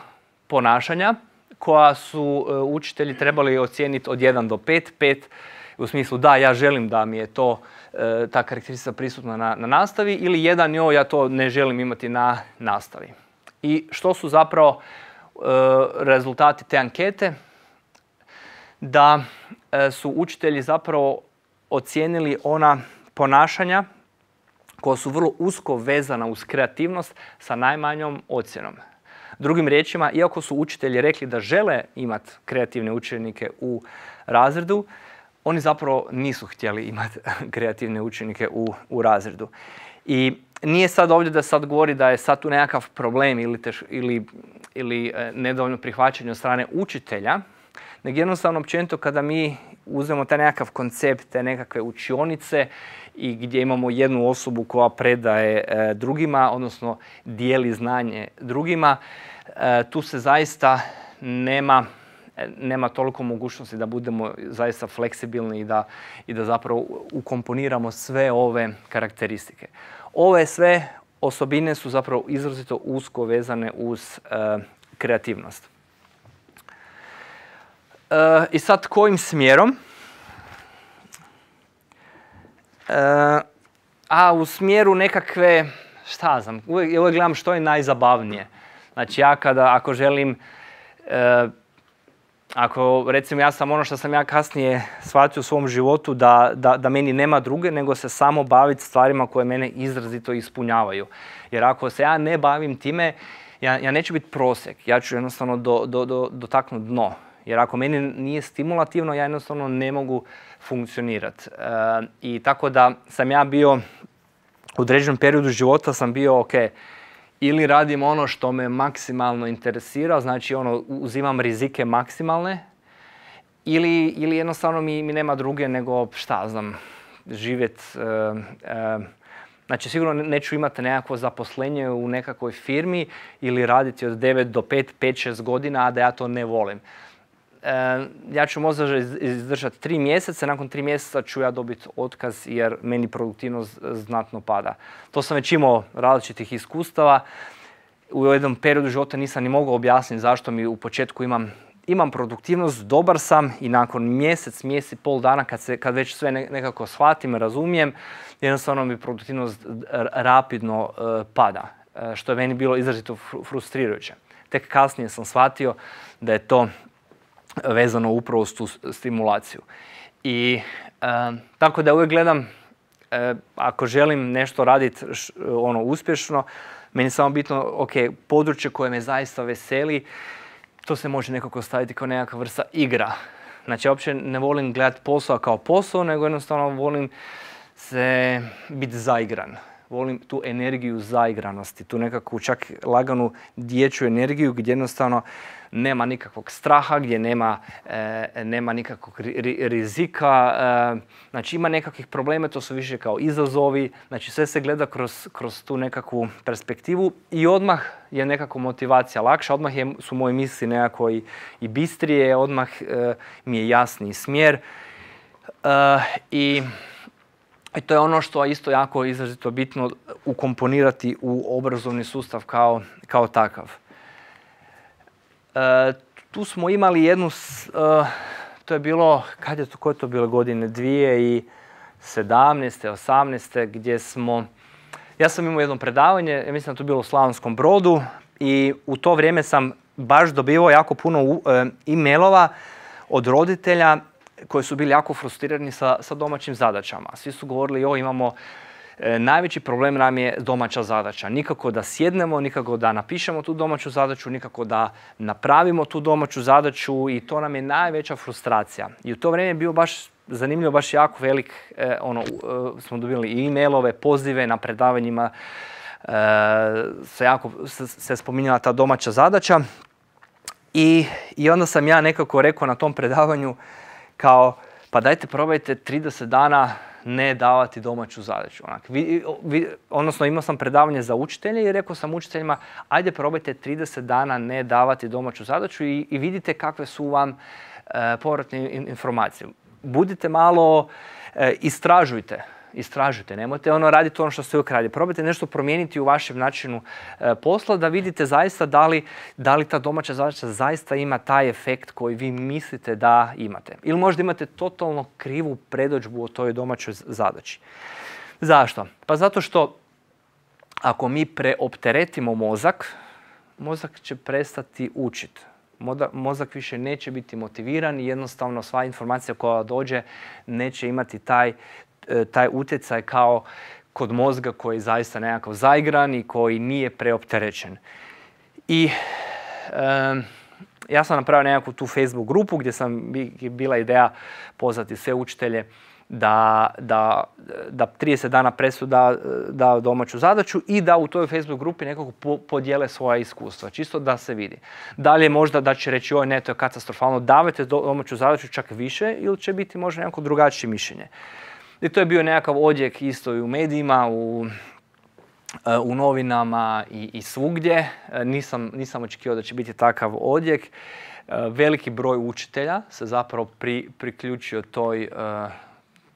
ponašanja koja su e, učitelji trebali ocijeniti od jedan do pet. pet u smislu da, ja želim da mi je to, e, ta karakteristika prisutna na, na nastavi, ili jedan, jo, ja to ne želim imati na nastavi. I što su zapravo e, rezultati te ankete? Da e, su učitelji zapravo ocijenili ona ponašanja koja su vrlo usko vezana uz kreativnost sa najmanjom ocjenom. Drugim riječima, iako su učitelji rekli da žele imati kreativne učenike u razredu, oni zapravo nisu htjeli imati kreativne učenike u, u razredu. I nije sad ovdje da sad govori da je sad tu nekakav problem ili, teš, ili, ili nedovoljno prihvaćanje od strane učitelja, nego jednostavno općenito kada mi uzmemo taj nekakav koncept, te nekakve učionice i gdje imamo jednu osobu koja predaje e, drugima, odnosno dijeli znanje drugima, e, tu se zaista nema, nema toliko mogućnosti da budemo zaista fleksibilni i da, i da zapravo ukomponiramo sve ove karakteristike. Ove sve osobine su zapravo izrazito usko vezane uz e, kreativnost. E, I sad kojim smjerom? E, a u smjeru nekakve, šta znam, uvijek, uvijek gledam što je najzabavnije. Znači ja kada, ako želim, e, ako recimo ja sam ono što sam ja kasnije shvatio u svom životu da, da, da meni nema druge nego se samo baviti stvarima koje mene izrazito ispunjavaju. Jer ako se ja ne bavim time, ja, ja neću biti prosjek, ja ću jednostavno do, do, do, dotaknuti dno. Jer ako meni nije stimulativno, ja jednostavno ne mogu funkcionirati. E, I tako da sam ja bio, u određenom periodu života sam bio, ok, ili radim ono što me maksimalno interesira, znači ono, uzimam rizike maksimalne, ili, ili jednostavno mi, mi nema druge nego, šta znam, živjeti. E, e, znači sigurno neću imati nekakvo zaposlenje u nekakvoj firmi ili raditi od devet do pet, pet šest godina, a da ja to ne volim. E, ja ću možda izdržati tri mjeseca, nakon tri mjeseca ću ja dobiti otkaz jer meni produktivnost znatno pada. To sam već imao različitih iskustava. U jednom periodu života nisam ni mogao objasniti zašto mi u početku imam, imam produktivnost, dobar sam i nakon mjesec, mjesec i pol dana kad, se, kad već sve nekako shvatim, razumijem, jednostavno mi produktivnost rapidno uh, pada, uh, što je meni bilo izrazito frustrirajuće. Tek kasnije sam shvatio da je to vezano upravo s tu stimulaciju. I e, tako da uvijek gledam, e, ako želim nešto raditi ono uspješno, meni je samo bitno, ok, područje koje me zaista veseli, to se može nekako staviti kao nekakva vrsta igra. Znači, ja uopće ne volim gledati posao kao posao, nego jednostavno volim se biti zaigran. Volim tu energiju zaigranosti, tu nekakvu čak laganu dječju energiju gdje jednostavno nema nikakvog straha, gdje nema, e, nema nikakvog ri, rizika, e, znači ima nekakvih problema, to su više kao izazovi, znači sve se gleda kroz, kroz tu nekakvu perspektivu i odmah je nekako motivacija lakša, odmah je, su moje misli nekako i, i bistrije, odmah e, mi je jasniji smjer e, i I to je ono što je isto jako izrazito bitno ukomponirati u obrazovni sustav kao, kao takav. E, tu smo imali jednu, e, to je bilo, kad je to, koje je to bilo godine, dvije tisuće sedamnaeste, osamnaeste gdje smo, ja sam imao jedno predavanje, ja mislim da to bilo u Slavonskom Brodu i u to vrijeme sam baš dobivao jako puno e, e-mailova od roditelja koji su bili jako frustrirani sa, sa domaćim zadaćama. Svi su govorili, jo, imamo, e, najveći problem nam je domaća zadaća. Nikako da sjednemo, nikako da napišemo tu domaću zadaću, nikako da napravimo tu domaću zadaću i to nam je najveća frustracija. I u to vrijeme je bio baš zanimljivo, baš jako velik, e, ono, e, smo dobili i e-mailove, pozive na predavanjima, e, se jako se, se spominjala ta domaća zadaća. I, I onda sam ja nekako rekao na tom predavanju kao, pa dajte probajte trideset dana ne davati domaću zadaću. Onak, vi, vi, odnosno imao sam predavanje za učitelje i rekao sam učiteljima, ajde probajte trideset dana ne davati domaću zadaću i, i vidite kakve su vam e, povratne informacije. Budite malo, e, istražujte. Istražujte, nemojte ono raditi ono što ste uvijek radili. Probajte nešto promijeniti u vašem načinu e, posla da vidite zaista da li, da li ta domaća zadaća zaista ima taj efekt koji vi mislite da imate. Ili možda imate totalno krivu predodžbu o toj domaćoj zadaći. Zašto? Pa zato što ako mi preopteretimo mozak, mozak će prestati učiti. Mozak više neće biti motiviran i jednostavno sva informacija koja dođe neće imati taj taj utjecaj kao kod mozga koji je zaista nekako zaigran i koji nije preopterećen. I um, ja sam napravio nekakvu tu Facebook grupu gdje sam bila ideja pozvati sve učitelje da, da, da trideset dana presu da, da domaću zadaću i da u toj Facebook grupi nekako po, podijele svoja iskustva, čisto da se vidi. Da li je možda da će reći oj ne, to je katastrofalno, davajte domaću zadaću čak više ili će biti možda nekako drugačije mišljenje. I to je bio nekakav odjek isto i u medijima, u, u novinama i, i svugdje. Nisam, nisam očekivao da će biti takav odjek. Veliki broj učitelja se zapravo pri, priključio toj,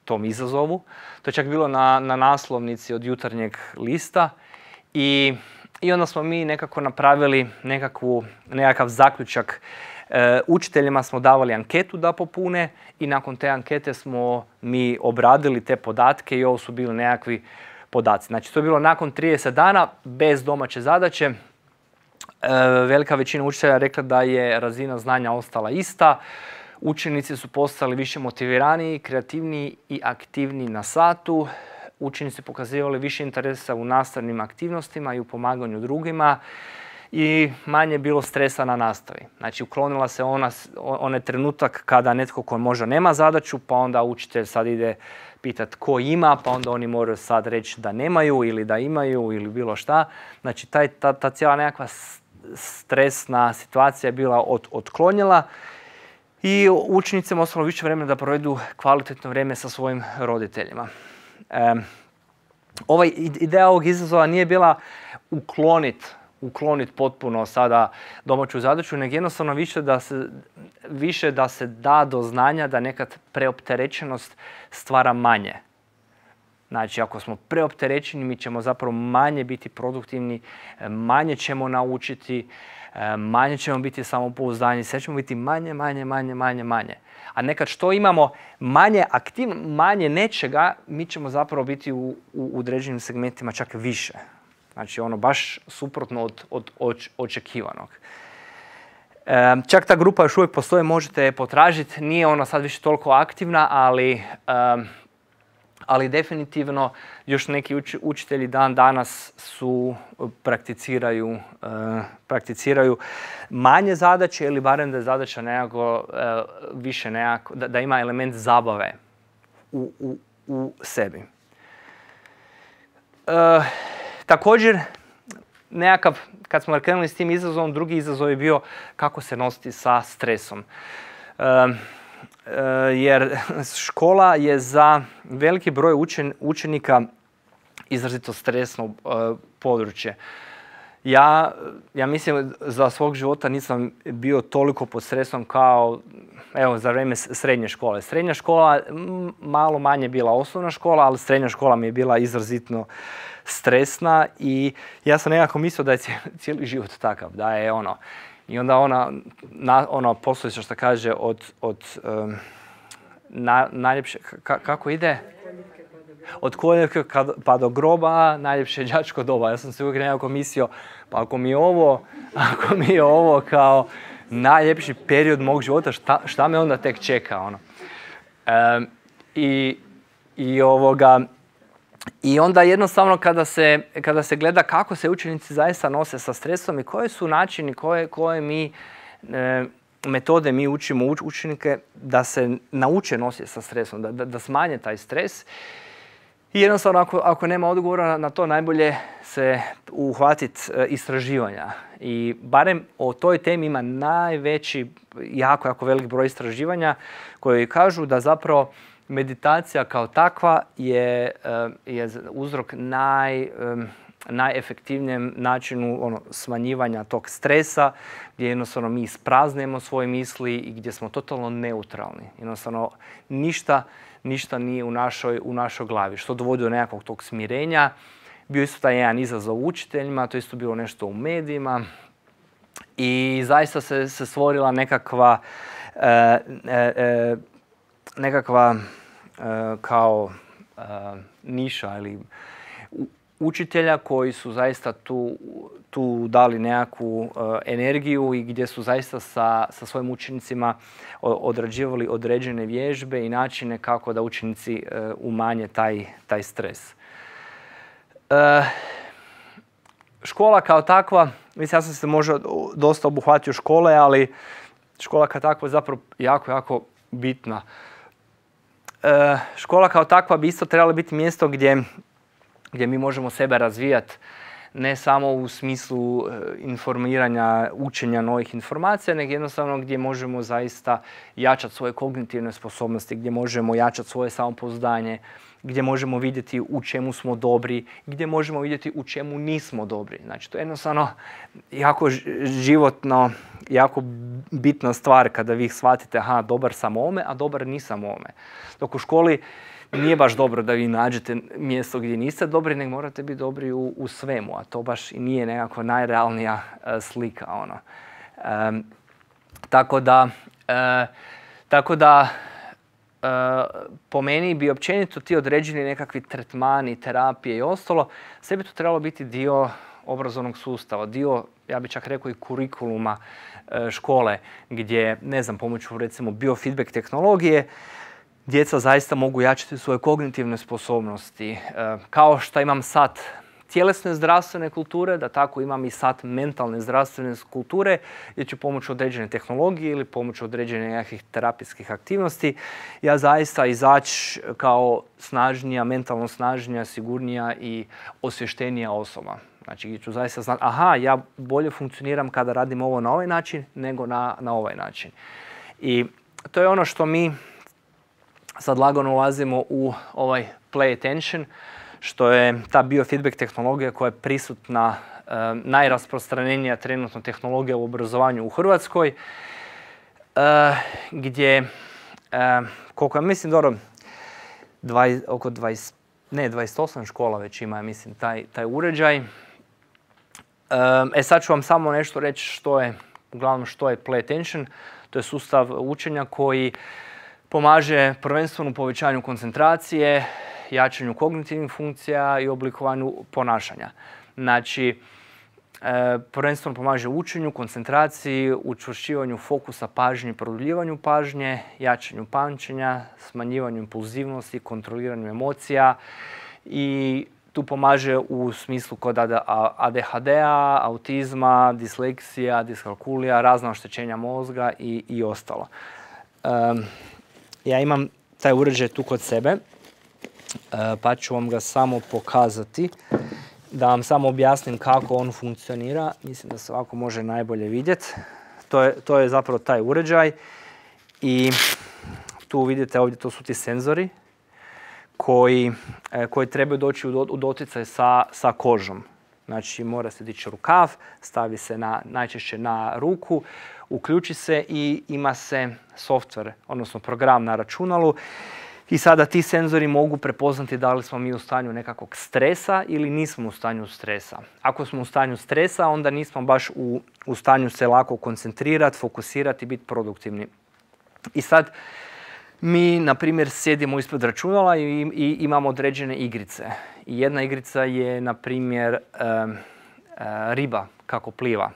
tom izazovu. To je čak bilo na, na naslovnici od Jutarnjeg lista. I, i onda smo mi nekako napravili nekakvu, nekakav zaključak. E, učiteljima smo davali anketu da popune i nakon te ankete smo mi obradili te podatke i ovo su bili nekakvi podaci. Znači to je bilo nakon trideset dana bez domaće zadaće. E, velika većina učitelja rekla da je razina znanja ostala ista. Učenici su postali više motiviraniji, kreativniji i aktivniji na satu. Učenici pokazivali više interesa u nastavnim aktivnostima i u pomaganju drugima. I manje je bilo stresa na nastavi. Znači, uklonila se ona, onaj trenutak kada netko ko možda nema zadaću, pa onda učitelj sad ide pitati ko ima, pa onda oni moraju sad reći da nemaju ili da imaju ili bilo šta. Znači, taj, ta, ta cijela nekakva stresna situacija je bila od, otklonjela i učenicima ostalo više vremena da provedu kvalitetno vrijeme sa svojim roditeljima. E, ovaj, ideja ovog izazova nije bila ukloniti ukloniti potpuno sada domaću zadaću, nego jednostavno više da, se, više da se da do znanja da nekad preopterećenost stvara manje. Znači, ako smo preopterećeni, mi ćemo zapravo manje biti produktivni, manje ćemo naučiti, manje ćemo biti samopouzdani, sve ćemo biti manje, manje, manje, manje, manje. A nekad što imamo manje aktivno, manje nečega, mi ćemo zapravo biti u, u određenim segmentima čak više. Znači, ono baš suprotno od, od, od očekivanog. E, čak ta grupa još uvijek postoji, možete je potražiti. Nije ona sad više toliko aktivna, ali, e, ali definitivno još neki uč, učitelji dan danas su prakticiraju, e, prakticiraju manje zadaće ili barem da je zadaća nekako e, više nekako, da, da ima element zabave u, u, u sebi. E, Također, nekakav, kad smo krenuli s tim izazovom, drugi izazov je bio kako se nositi sa stresom. E, e, jer škola je za veliki broj učen, učenika izrazito stresno e, područje. Ja, ja mislim za svog života nisam bio toliko pod stresom kao evo, za vrijeme srednje škole. Srednja škola malo manje bila osnovna škola, ali srednja škola mi je bila izrazitno stresna i ja sam nekako mislio da je cijeli život takav, da je ono. I onda ona, na, ona poslovica što kaže od, od um, na, najljepše, ka, kako ide? Od koljevke pa do groba, najljepše đačko doba. Ja sam se uvijek nekako mislio, pa ako mi je ovo, ako mi je ovo kao najljepši period mog života, šta, šta me onda tek čeka, ono. Um, i, i ovoga, I onda jednostavno kada se, kada se gleda kako se učenici zaista nose sa stresom i koji su načini koje, koje mi e, metode mi učimo uč, učenike da se nauče nositi sa stresom, da, da, da smanje taj stres. I jednostavno, ako, ako nema odgovora na, na to, najbolje se uhvatiti e, istraživanja. I barem o toj temi ima najveći, jako, jako velik broj istraživanja koji kažu da zapravo meditacija kao takva je, je uzrok naj, najefektivnijem načinu ono, smanjivanja tog stresa, gdje jednostavno mi ispraznemo svoje misli i gdje smo totalno neutralni. Jednostavno ništa, ništa nije u našoj, u našoj glavi, što dovodi do nekakvog tog smirenja. Bio isto taj jedan izazov učiteljima, to isto bilo nešto u medijima i zaista se, se stvorila nekakva e, e, e, nekakva e, kao e, niša ili učitelja koji su zaista tu, tu dali nekakvu uh, energiju i gdje su zaista sa, sa svojim učenicima odrađivali određene vježbe i načine kako da učenici uh, umanje taj, taj stres. Uh, škola kao takva, mislim ja sam se možda dosta obuhvatio škole, ali škola kao takva je zapravo jako, jako bitna. Uh, škola kao takva bi isto trebala biti mjesto gdje gdje mi možemo sebe razvijati ne samo u smislu informiranja, učenja novih informacija, nego jednostavno gdje možemo zaista jačati svoje kognitivne sposobnosti, gdje možemo jačati svoje samopouzdanje, gdje možemo vidjeti u čemu smo dobri, gdje možemo vidjeti u čemu nismo dobri. Znači, to je jednostavno jako životno, jako bitna stvar kada vi shvatite, aha, dobar sam u ovome, a dobar nisam u ovome. Dok u školi nije baš dobro da vi nađete mjesto gdje niste dobri, nego morate biti dobri u, u svemu, a to baš i nije nekakva najrealnija uh, slika. Ono. Um, tako da, uh, tako da uh, po meni bi općenito ti određeni nekakvi tretmani, terapije i ostalo, sve bi to trebalo biti dio obrazovnog sustava, dio, ja bih čak rekao i kurikuluma uh, škole, gdje, ne znam, pomoću recimo biofeedback tehnologije, djeca zaista mogu jačati svoje kognitivne sposobnosti. Kao što imam sat tjelesne zdravstvene kulture, da tako imam i sat mentalne zdravstvene kulture, gdje ću pomoću određene tehnologije ili pomoću određenih nekakvih terapijskih aktivnosti ja zaista izaći kao snažnija, mentalno snažnija, sigurnija i osvještenija osoba. Znači, gdje ću zaista znati, aha, ja bolje funkcioniram kada radim ovo na ovaj način nego na, na ovaj način. I to je ono što mi sad lagano ulazimo u ovaj play attention, što je ta biofeedback tehnologija koja je prisutna, e, najrasprostranjenija trenutno tehnologija u obrazovanju u Hrvatskoj, e, gdje, e, koliko ja mislim, dobro, dvadeset, oko dvadeset, ne, dvadeset osam škola već ima, mislim, taj, taj uređaj. E, e sad ću vam samo nešto reći što je, uglavnom što je play attention. To je sustav učenja koji pomaže prvenstveno u povećanju koncentracije, jačanju kognitivnih funkcija i oblikovanju ponašanja. Znači, e, prvenstveno pomaže učenju, koncentraciji, učvršćivanju fokusa pažnje, produljivanju pažnje, jačanju pamćenja, smanjivanju impulzivnosti, kontroliranju emocija i tu pomaže u smislu kod A D H D-a, autizma, disleksija, diskalkulija, razna oštećenja mozga i, i ostalo. Um, Ja imam taj uređaj tu kod sebe, pa ću vam ga samo pokazati, da vam samo objasnim kako on funkcionira. Mislim da se ovako može najbolje vidjeti. To je, to je zapravo taj uređaj i tu vidite ovdje, to su ti senzori koji, koji trebaju doći u doticaj sa, sa kožom. Znači, mora se dići rukav, stavi se na, najčešće na ruku, uključi se i ima se software, odnosno program na računalu. I sada ti senzori mogu prepoznati da li smo mi u stanju nekakvog stresa ili nismo u stanju stresa. Ako smo u stanju stresa, onda nismo baš u, u stanju se lako koncentrirati, fokusirati i biti produktivni. I sad mi, na primjer, sjedimo ispred računala i, i imamo određene igrice. I jedna igrica je, na primjer, e, e, riba kako pliva.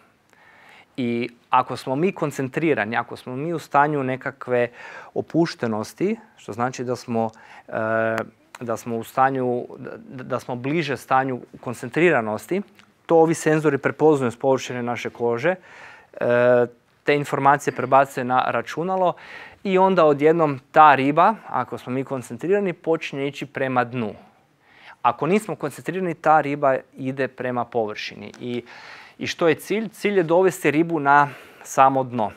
I ako smo mi koncentrirani, ako smo mi u stanju nekakve opuštenosti, što znači da smo, e, da smo u stanju, da, da smo bliže stanju koncentriranosti, to ovi senzori prepoznaju s površine naše kože, e, te informacije prebacuje na računalo i onda odjednom ta riba, ako smo mi koncentrirani, počinje ići prema dnu. Ako nismo koncentrirani, ta riba ide prema površini. I, i što je cilj? Cilj je dovesti ribu na samo dno.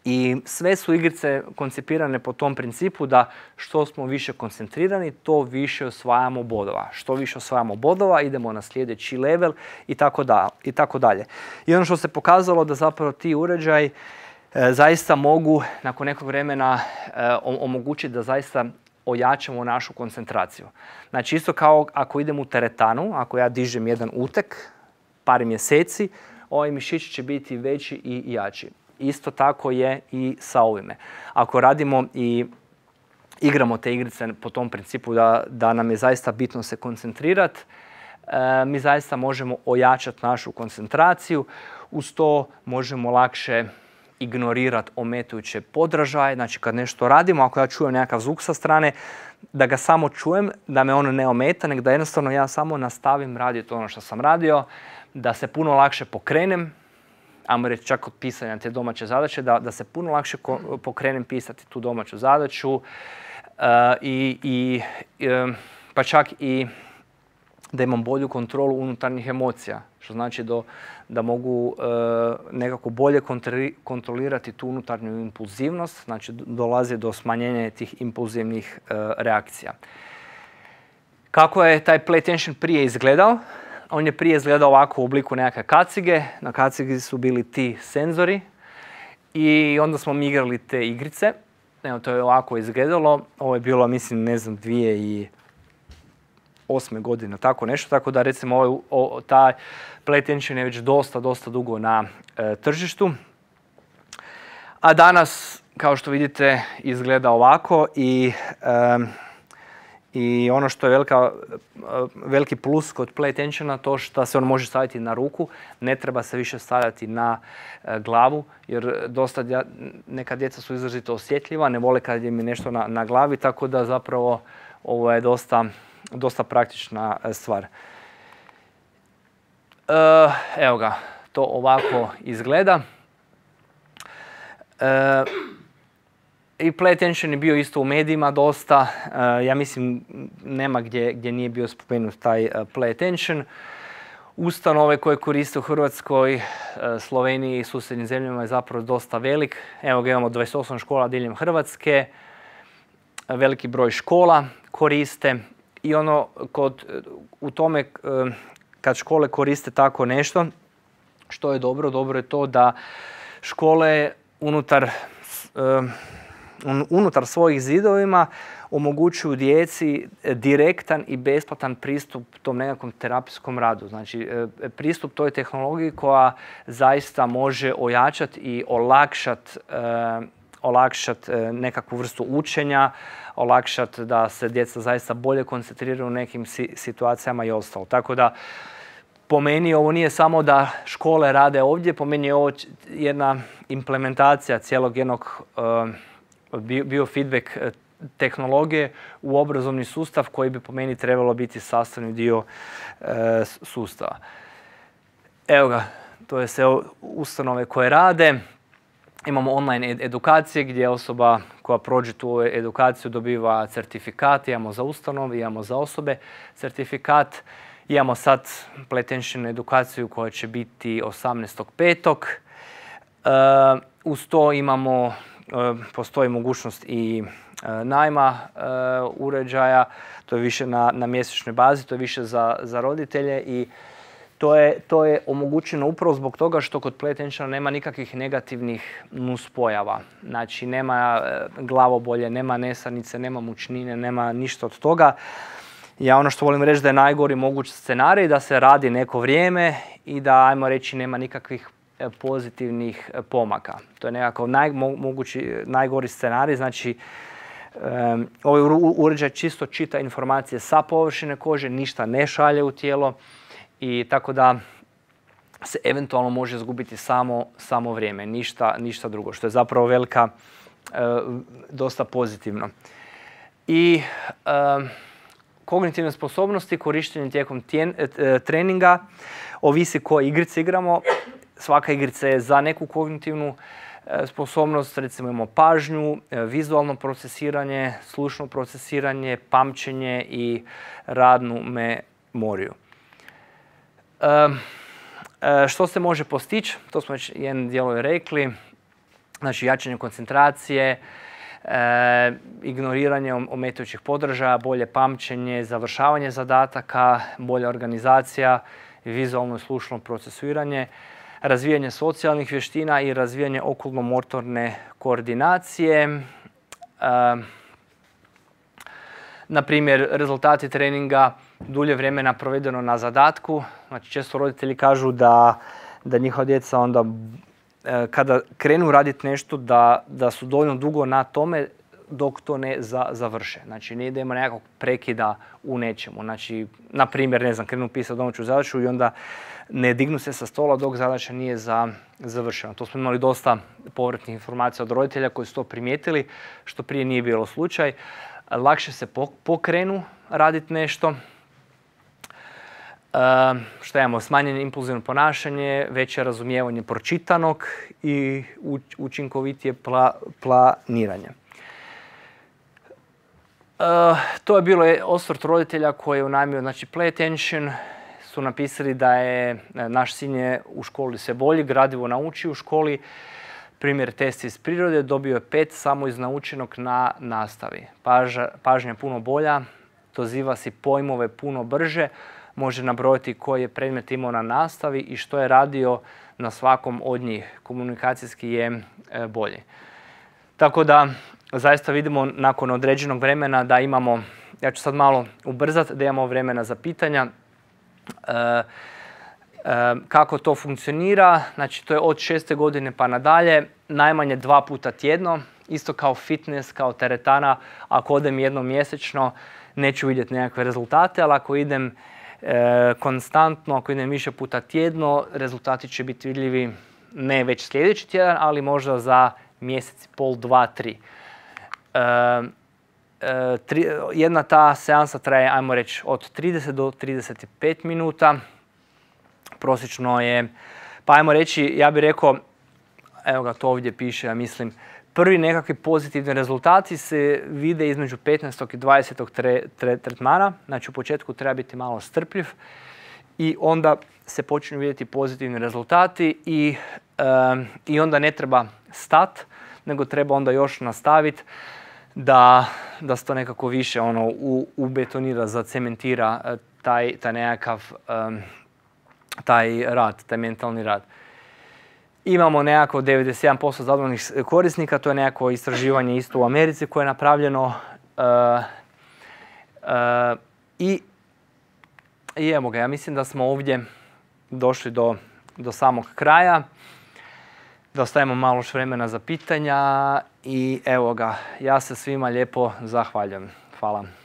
I sve su igrice koncipirane po tom principu da što smo više koncentrirani, to više osvajamo bodova. Što više osvajamo bodova, idemo na sljedeći level i tako, da, i tako dalje. I ono što se pokazalo da zapravo ti uređaji e, zaista mogu nakon nekog vremena e, omogućiti da zaista ojačamo našu koncentraciju. Znači isto kao ako idem u teretanu, ako ja dižem jedan utek, par mjeseci, ovaj mišić će biti veći i jači. Isto tako je i sa ovime. Ako radimo i igramo te igrice po tom principu da, da nam je zaista bitno se koncentrirati, e, mi zaista možemo ojačati našu koncentraciju. Uz to možemo lakše ignorirati ometajuće podražaje. Znači kad nešto radimo, ako ja čujem nekakav zvuk sa strane, da ga samo čujem, da me ono ne ometa, nego da jednostavno ja samo nastavim raditi ono što sam radio, da se puno lakše pokrenem, ajmo reći čak od pisanja te domaće zadaće, da, da se puno lakše ko, pokrenem pisati tu domaću zadaću uh, i, i, uh, pa čak i da imam bolju kontrolu unutarnjih emocija, što znači do, da mogu uh, nekako bolje kontrolirati tu unutarnju impulzivnost, znači dolazi do smanjenja tih impulzivnih uh, reakcija. Kako je taj play tension prije izgledao? On je prije izgledao ovako u obliku nekakve kacige. Na kacigi su bili ti senzori i onda smo mi igrali te igrice. Evo, to je ovako izgledalo. Ovo je bilo, mislim, ne znam, dvije i osme godine, tako nešto. Tako da, recimo, ovaj, o, taj play tension je već dosta, dosta dugo na e, tržištu. A danas, kao što vidite, izgleda ovako i... E, I ono što je velika, veliki plus kod play tensiona, to što se on može staviti na ruku, ne treba se više stavljati na glavu, jer dosta neka djeca su izrazito osjetljiva, ne vole kad im je nešto na, na glavi, tako da zapravo ovo je dosta, dosta praktična stvar. E, evo ga, to ovako izgleda. E, I play tension je bio isto u medijima dosta. Uh, ja mislim nema gdje, gdje nije bio spomenut taj uh, play tension. Ustanove koje koriste u Hrvatskoj, uh, Sloveniji i susjednim zemljama je zapravo dosta velik. Evo ga, imamo dvadeset osam škola diljem Hrvatske. Uh, veliki broj škola koriste. I ono kod, u tome uh, kad škole koriste tako nešto, što je dobro, dobro je to da škole unutar uh, unutar svojih zidovima omogućuju djeci direktan i besplatan pristup tom nekakvom terapijskom radu. Znači, pristup toj tehnologiji koja zaista može ojačati i olakšati olakšat nekakvu vrstu učenja, olakšati da se djeca zaista bolje koncentriraju u nekim situacijama i ostalo. Tako da, po meni ovo nije samo da škole rade ovdje, po meni je ovo jedna implementacija cijelog jednog biofeedback tehnologije u obrazovni sustav koji bi po meni trebalo biti sastavni dio e, sustava. Evo ga, to je sve ustanove koje rade. Imamo online ed edukacije gdje osoba koja prođe tu edukaciju dobiva certifikat. Imamo za ustanove, imamo za osobe certifikat. Imamo sad play tension edukaciju koja će biti osamnaestog petog E, uz to imamo postoji mogućnost i e, najma e, uređaja, to je više na, na mjesečnoj bazi, to je više za, za roditelje i to je, to je omogućeno upravo zbog toga što kod play tensiona nema nikakvih negativnih nuspojava. Znači nema e, glavobolje, nema nesanice, nema mučnine, nema ništa od toga. Ja ono što volim reći da je najgori mogući scenarij, da se radi neko vrijeme i da, ajmo reći, nema nikakvih pozitivnih pomaka. To je nekako naj, mogući, najgori scenarij. Znači, um, ovaj uređaj čisto čita informacije sa površine kože, ništa ne šalje u tijelo i tako da se eventualno može izgubiti samo, samo vrijeme, ništa, ništa drugo, što je zapravo velika, uh, dosta pozitivno. I um, kognitivne sposobnosti korištenje tijekom tjen, uh, treninga ovisi koje igrice igramo. svaka igrica je za neku kognitivnu sposobnost, recimo imamo pažnju, vizualno procesiranje, slušno procesiranje, pamćenje i radnu memoriju. Što se može postići? To smo već jedan dijelo rekli. Znači, jačanje koncentracije, E, ignoriranje ometajućih podržaja, bolje pamćenje, završavanje zadataka, bolja organizacija, vizualno i slušno procesuiranje, razvijanje socijalnih vještina i razvijanje okulno-motorne koordinacije. E, na primjer, rezultati treninga dulje vremena provedeno na zadatku. Znači, često roditelji kažu da, da njihova djeca onda kada krenu raditi nešto da, da su dovoljno dugo na tome dok to ne za, završe. Znači, nije da ima nekakvog prekida u nečemu. Znači, na primjer, ne znam, krenu pisati domaću zadaću i onda ne dignu se sa stola dok zadaća nije za, završena. To smo imali dosta povratnih informacija od roditelja koji su to primijetili, što prije nije bilo slučaj. Lakše se pokrenu raditi nešto. Uh, što imamo? Smanjeno impulzivno ponašanje, veće razumijevanje pročitanog i učinkovitije pla, planiranje. Uh, to je bilo osvrt roditelja koji je unajmio, znači Play Attention, su napisali da je naš sin je u školi sve bolji, gradivo nauči u školi. Primjer test iz prirode, dobio je pet samo iz naučenog na nastavi. Paža, pažnja je puno bolja, doziva si pojmove puno brže, može nabrojiti koji je predmet imao na nastavi i što je radio na svakom od njih. Komunikacijski je bolji. Tako da zaista vidimo nakon određenog vremena da imamo, ja ću sad malo ubrzati, da imamo vremena za pitanja. E, e, kako to funkcionira? Znači, to je od šeste godine pa nadalje, najmanje dva puta tjedno, isto kao fitness, kao teretana. Ako odem jednom mjesečno, neću vidjeti nekakve rezultate, ali ako idem E, konstantno, ako idem više puta tjedno, rezultati će biti vidljivi ne već sljedeći tjedan, ali možda za mjesec, pol, dva, tri. E, e, tri jedna ta seansa traje, ajmo reći, od trideset do trideset pet minuta. Prosječno je, pa ajmo reći, ja bih rekao, evo ga, to ovdje piše, ja mislim, prvi nekakvi pozitivni rezultati se vide između petnaestog i dvadesetog tre, tre, tretmana. Znači, u početku treba biti malo strpljiv i onda se počinju vidjeti pozitivni rezultati i, um, i onda ne treba stat, nego treba onda još nastaviti da, da se to nekako više ono, u, ubetonira, zacementira taj, taj nekakav um, taj rad, taj mentalni rad. Imamo nekako devedeset jedan posto zadovoljnih korisnika, to je nekako istraživanje isto u Americi koje je napravljeno. Uh, uh, i, I evo ga, ja mislim da smo ovdje došli do, do samog kraja. Da ostavimo malo još vremena za pitanja i evo ga, ja se svima lijepo zahvaljujem. Hvala.